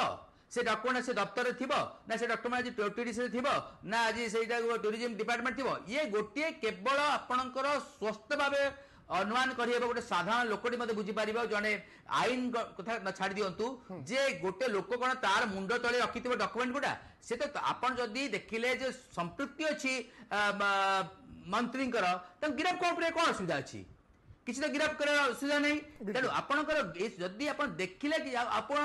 ସେ ଡକ୍ୟୁମେଣ୍ଟ ସେ ଦପ୍ତରରେ ଥିବ ନା ସେ ଡକ୍ୟୁମେଣ୍ଟ ଆଜି ଟିଡିସିରେ ଥିବ ନା ଆଜି ସେଇଟା ଟୁରିଜିମ ଡିପାର୍ଟମେଣ୍ଟ ଥିବ ଇଏ ଗୋଟିଏ କେବଳ ଆପଣଙ୍କର ସ୍ୱସ୍ଥ ଭାବେ ଅନୁମାନ କରିହେବ, ଗୋଟେ ସାଧାରଣ ଲୋକଟି ମଧ୍ୟ ବୁଝିପାରିବ, ଜଣେ ଆଇନ କଥା ଛାଡ଼ି ଦିଅନ୍ତୁ, ଯେ ଗୋଟେ ଲୋକ କ'ଣ ତାର ମୁଣ୍ଡ ତଳେ ରଖିଥିବ ଡକୁମେଣ୍ଟ ଗୁଡ଼ା? ସେ ତ ଆପଣ ଯଦି ଦେଖିଲେ ଯେ ସମ୍ପୃକ୍ତି ଅଛି ମନ୍ତ୍ରୀଙ୍କର, ତାଙ୍କୁ ଗିରଫ କଣ କରିବା କ'ଣ ଅସୁବିଧା ଅଛି? କିଛି ତ ଗିରଫ କରିବାର ଅସୁବିଧା ନାହିଁ। ତେଣୁ ଆପଣଙ୍କର ଯଦି ଆପଣ ଦେଖିଲେ କି ଆପଣ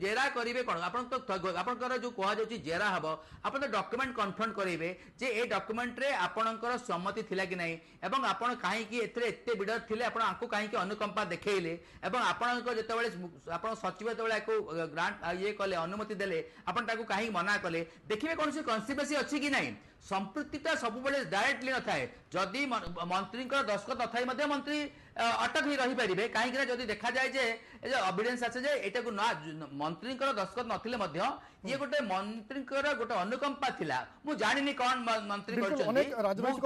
ଜେରା କରିବେ କ'ଣ, ଆପଣ ତ ଆପଣଙ୍କର ଯୋଉ କୁହାଯାଉଛି ଜେରା ହବ, ଆପଣ ତ ଡକ୍ୟୁମେଣ୍ଟ କନଫର୍ମ କରାଇବେ ଯେ ଏ ଡକ୍ୟୁମେଣ୍ଟରେ ଆପଣଙ୍କର ସମ୍ମତି ଥିଲା କି ନାହିଁ, ଏବଂ ଆପଣ କାହିଁକି ଏଥିରେ ଏତେ ବିଡର ଥିଲେ, ଆପଣ ଆଙ୍କୁ କାହିଁକି ଅନୁକମ୍ପା ଦେଖେଇଲେ, ଏବଂ ଆପଣଙ୍କ ଯେତେବେଳେ ଆପଣ ସଚିବ ଯେତେବେଳେ ଆକୁ ଗ୍ରାଣ୍ଟ ଇଏ କଲେ, ଅନୁମତି ଦେଲେ, ଆପଣ ତାକୁ କାହିଁକି ମନା କଲେ? ଦେଖିବେ କୌଣସି କନସିପେସି ଅଛି କି ନାହିଁ। ସମ୍ପୃକ୍ତିଟା ସବୁବେଳେ ଡାଇରେକ୍ଟଲି ନଥାଏ। ଯଦି ମନ୍ତ୍ରୀଙ୍କର ଦସ୍ତଖତ ନଥାଇ ମଧ୍ୟ ମନ୍ତ୍ରୀ ଅଟକ ହେଇ ରହିପାରିବେ, କାହିଁକି ନା ଯଦି ଦେଖାଯାଏ ଯେ ଏଭିଡେନ୍ସ ଆସେ ଯେ ଏଇଟାକୁ ନା ମନ୍ତ୍ରୀଙ୍କର ଦସ୍ତଖତ ନଥିଲେ ମଧ୍ୟ ଇଏ ଗୋଟେ ମନ୍ତ୍ରୀଙ୍କର ଗୋଟେ ଅନୁକମ୍ପା ଥିଲା। ମୁଁ ଜାଣିନି କଣ ମନ୍ତ୍ରୀ କରିଛନ୍ତି। ରାଜନୈତିକ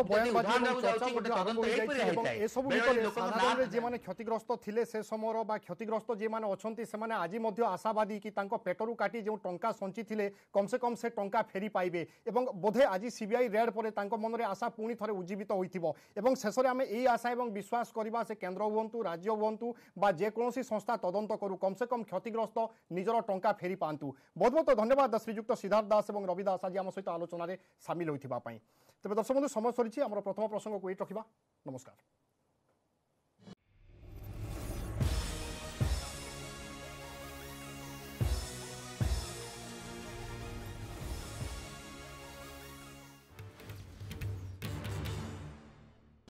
ଏସବୁ ଭିତରେ ସାଧାରଣରେ ଯେଉଁମାନେ କ୍ଷତିଗ୍ରସ୍ତ ଥିଲେ ସେ ସମୟର ବା କ୍ଷତିଗ୍ରସ୍ତ ଯେଉଁମାନେ ଅଛନ୍ତି, ସେମାନେ ଆଜି ମଧ୍ୟ ଆଶାବାଦୀ କି ତାଙ୍କ ପେଟରୁ କାଟି ଯେଉଁ ଟଙ୍କା ସଞ୍ଚିଥିଲେ କମ୍ ସେ କମ୍ ସେ ଟଙ୍କା ଫେରି ପାଇବେ, ଏବଂ ବୋଧେ ଆଜି ସିବିଆଇ ରେଡ୍ ପରେ ତାଙ୍କ ମନରେ ଆଶା ପୁଣି ଥରେ ଉଜ୍ଜୀବିତ ହୋଇଥିବ। ଏବଂ ଶେଷରେ ଆମେ ଏଇ ଆଶା ଏବଂ ବିଶ୍ୱାସ କରିବା, ସେ କେନ୍ଦ୍ର ହୁଅନ୍ତୁ, ରାଜ୍ୟ ହୁଅନ୍ତୁ ବା ଯେକୌଣସି ସଂସ୍ଥା ତଦନ୍ତ କରୁ, କମ୍ ସେ କମ୍ କ୍ଷତିଗ୍ରସ୍ତ ନିଜର ଟଙ୍କା ଫେରି ପାଆନ୍ତୁ। ବହୁତ ବହୁତ ଧନ୍ୟବାଦ ଶ୍ରୀଯୁକ୍ତ ସିଦ୍ଧାର୍ଥ ଦାସ ଏବଂ ରବି ଦାସ ଆଜି ଆମ ସହିତ ଆଲୋଚନାରେ ସାମିଲ ହୋଇଥିବା ପାଇଁ। ତେବେ ଦର୍ଶକ ବନ୍ଧୁ, ସମୟ ସରିଛି, ଆମର ପ୍ରଥମ ପ୍ରସଙ୍ଗକୁ ଏଇଠି ରଖିବା। ନମସ୍କାର।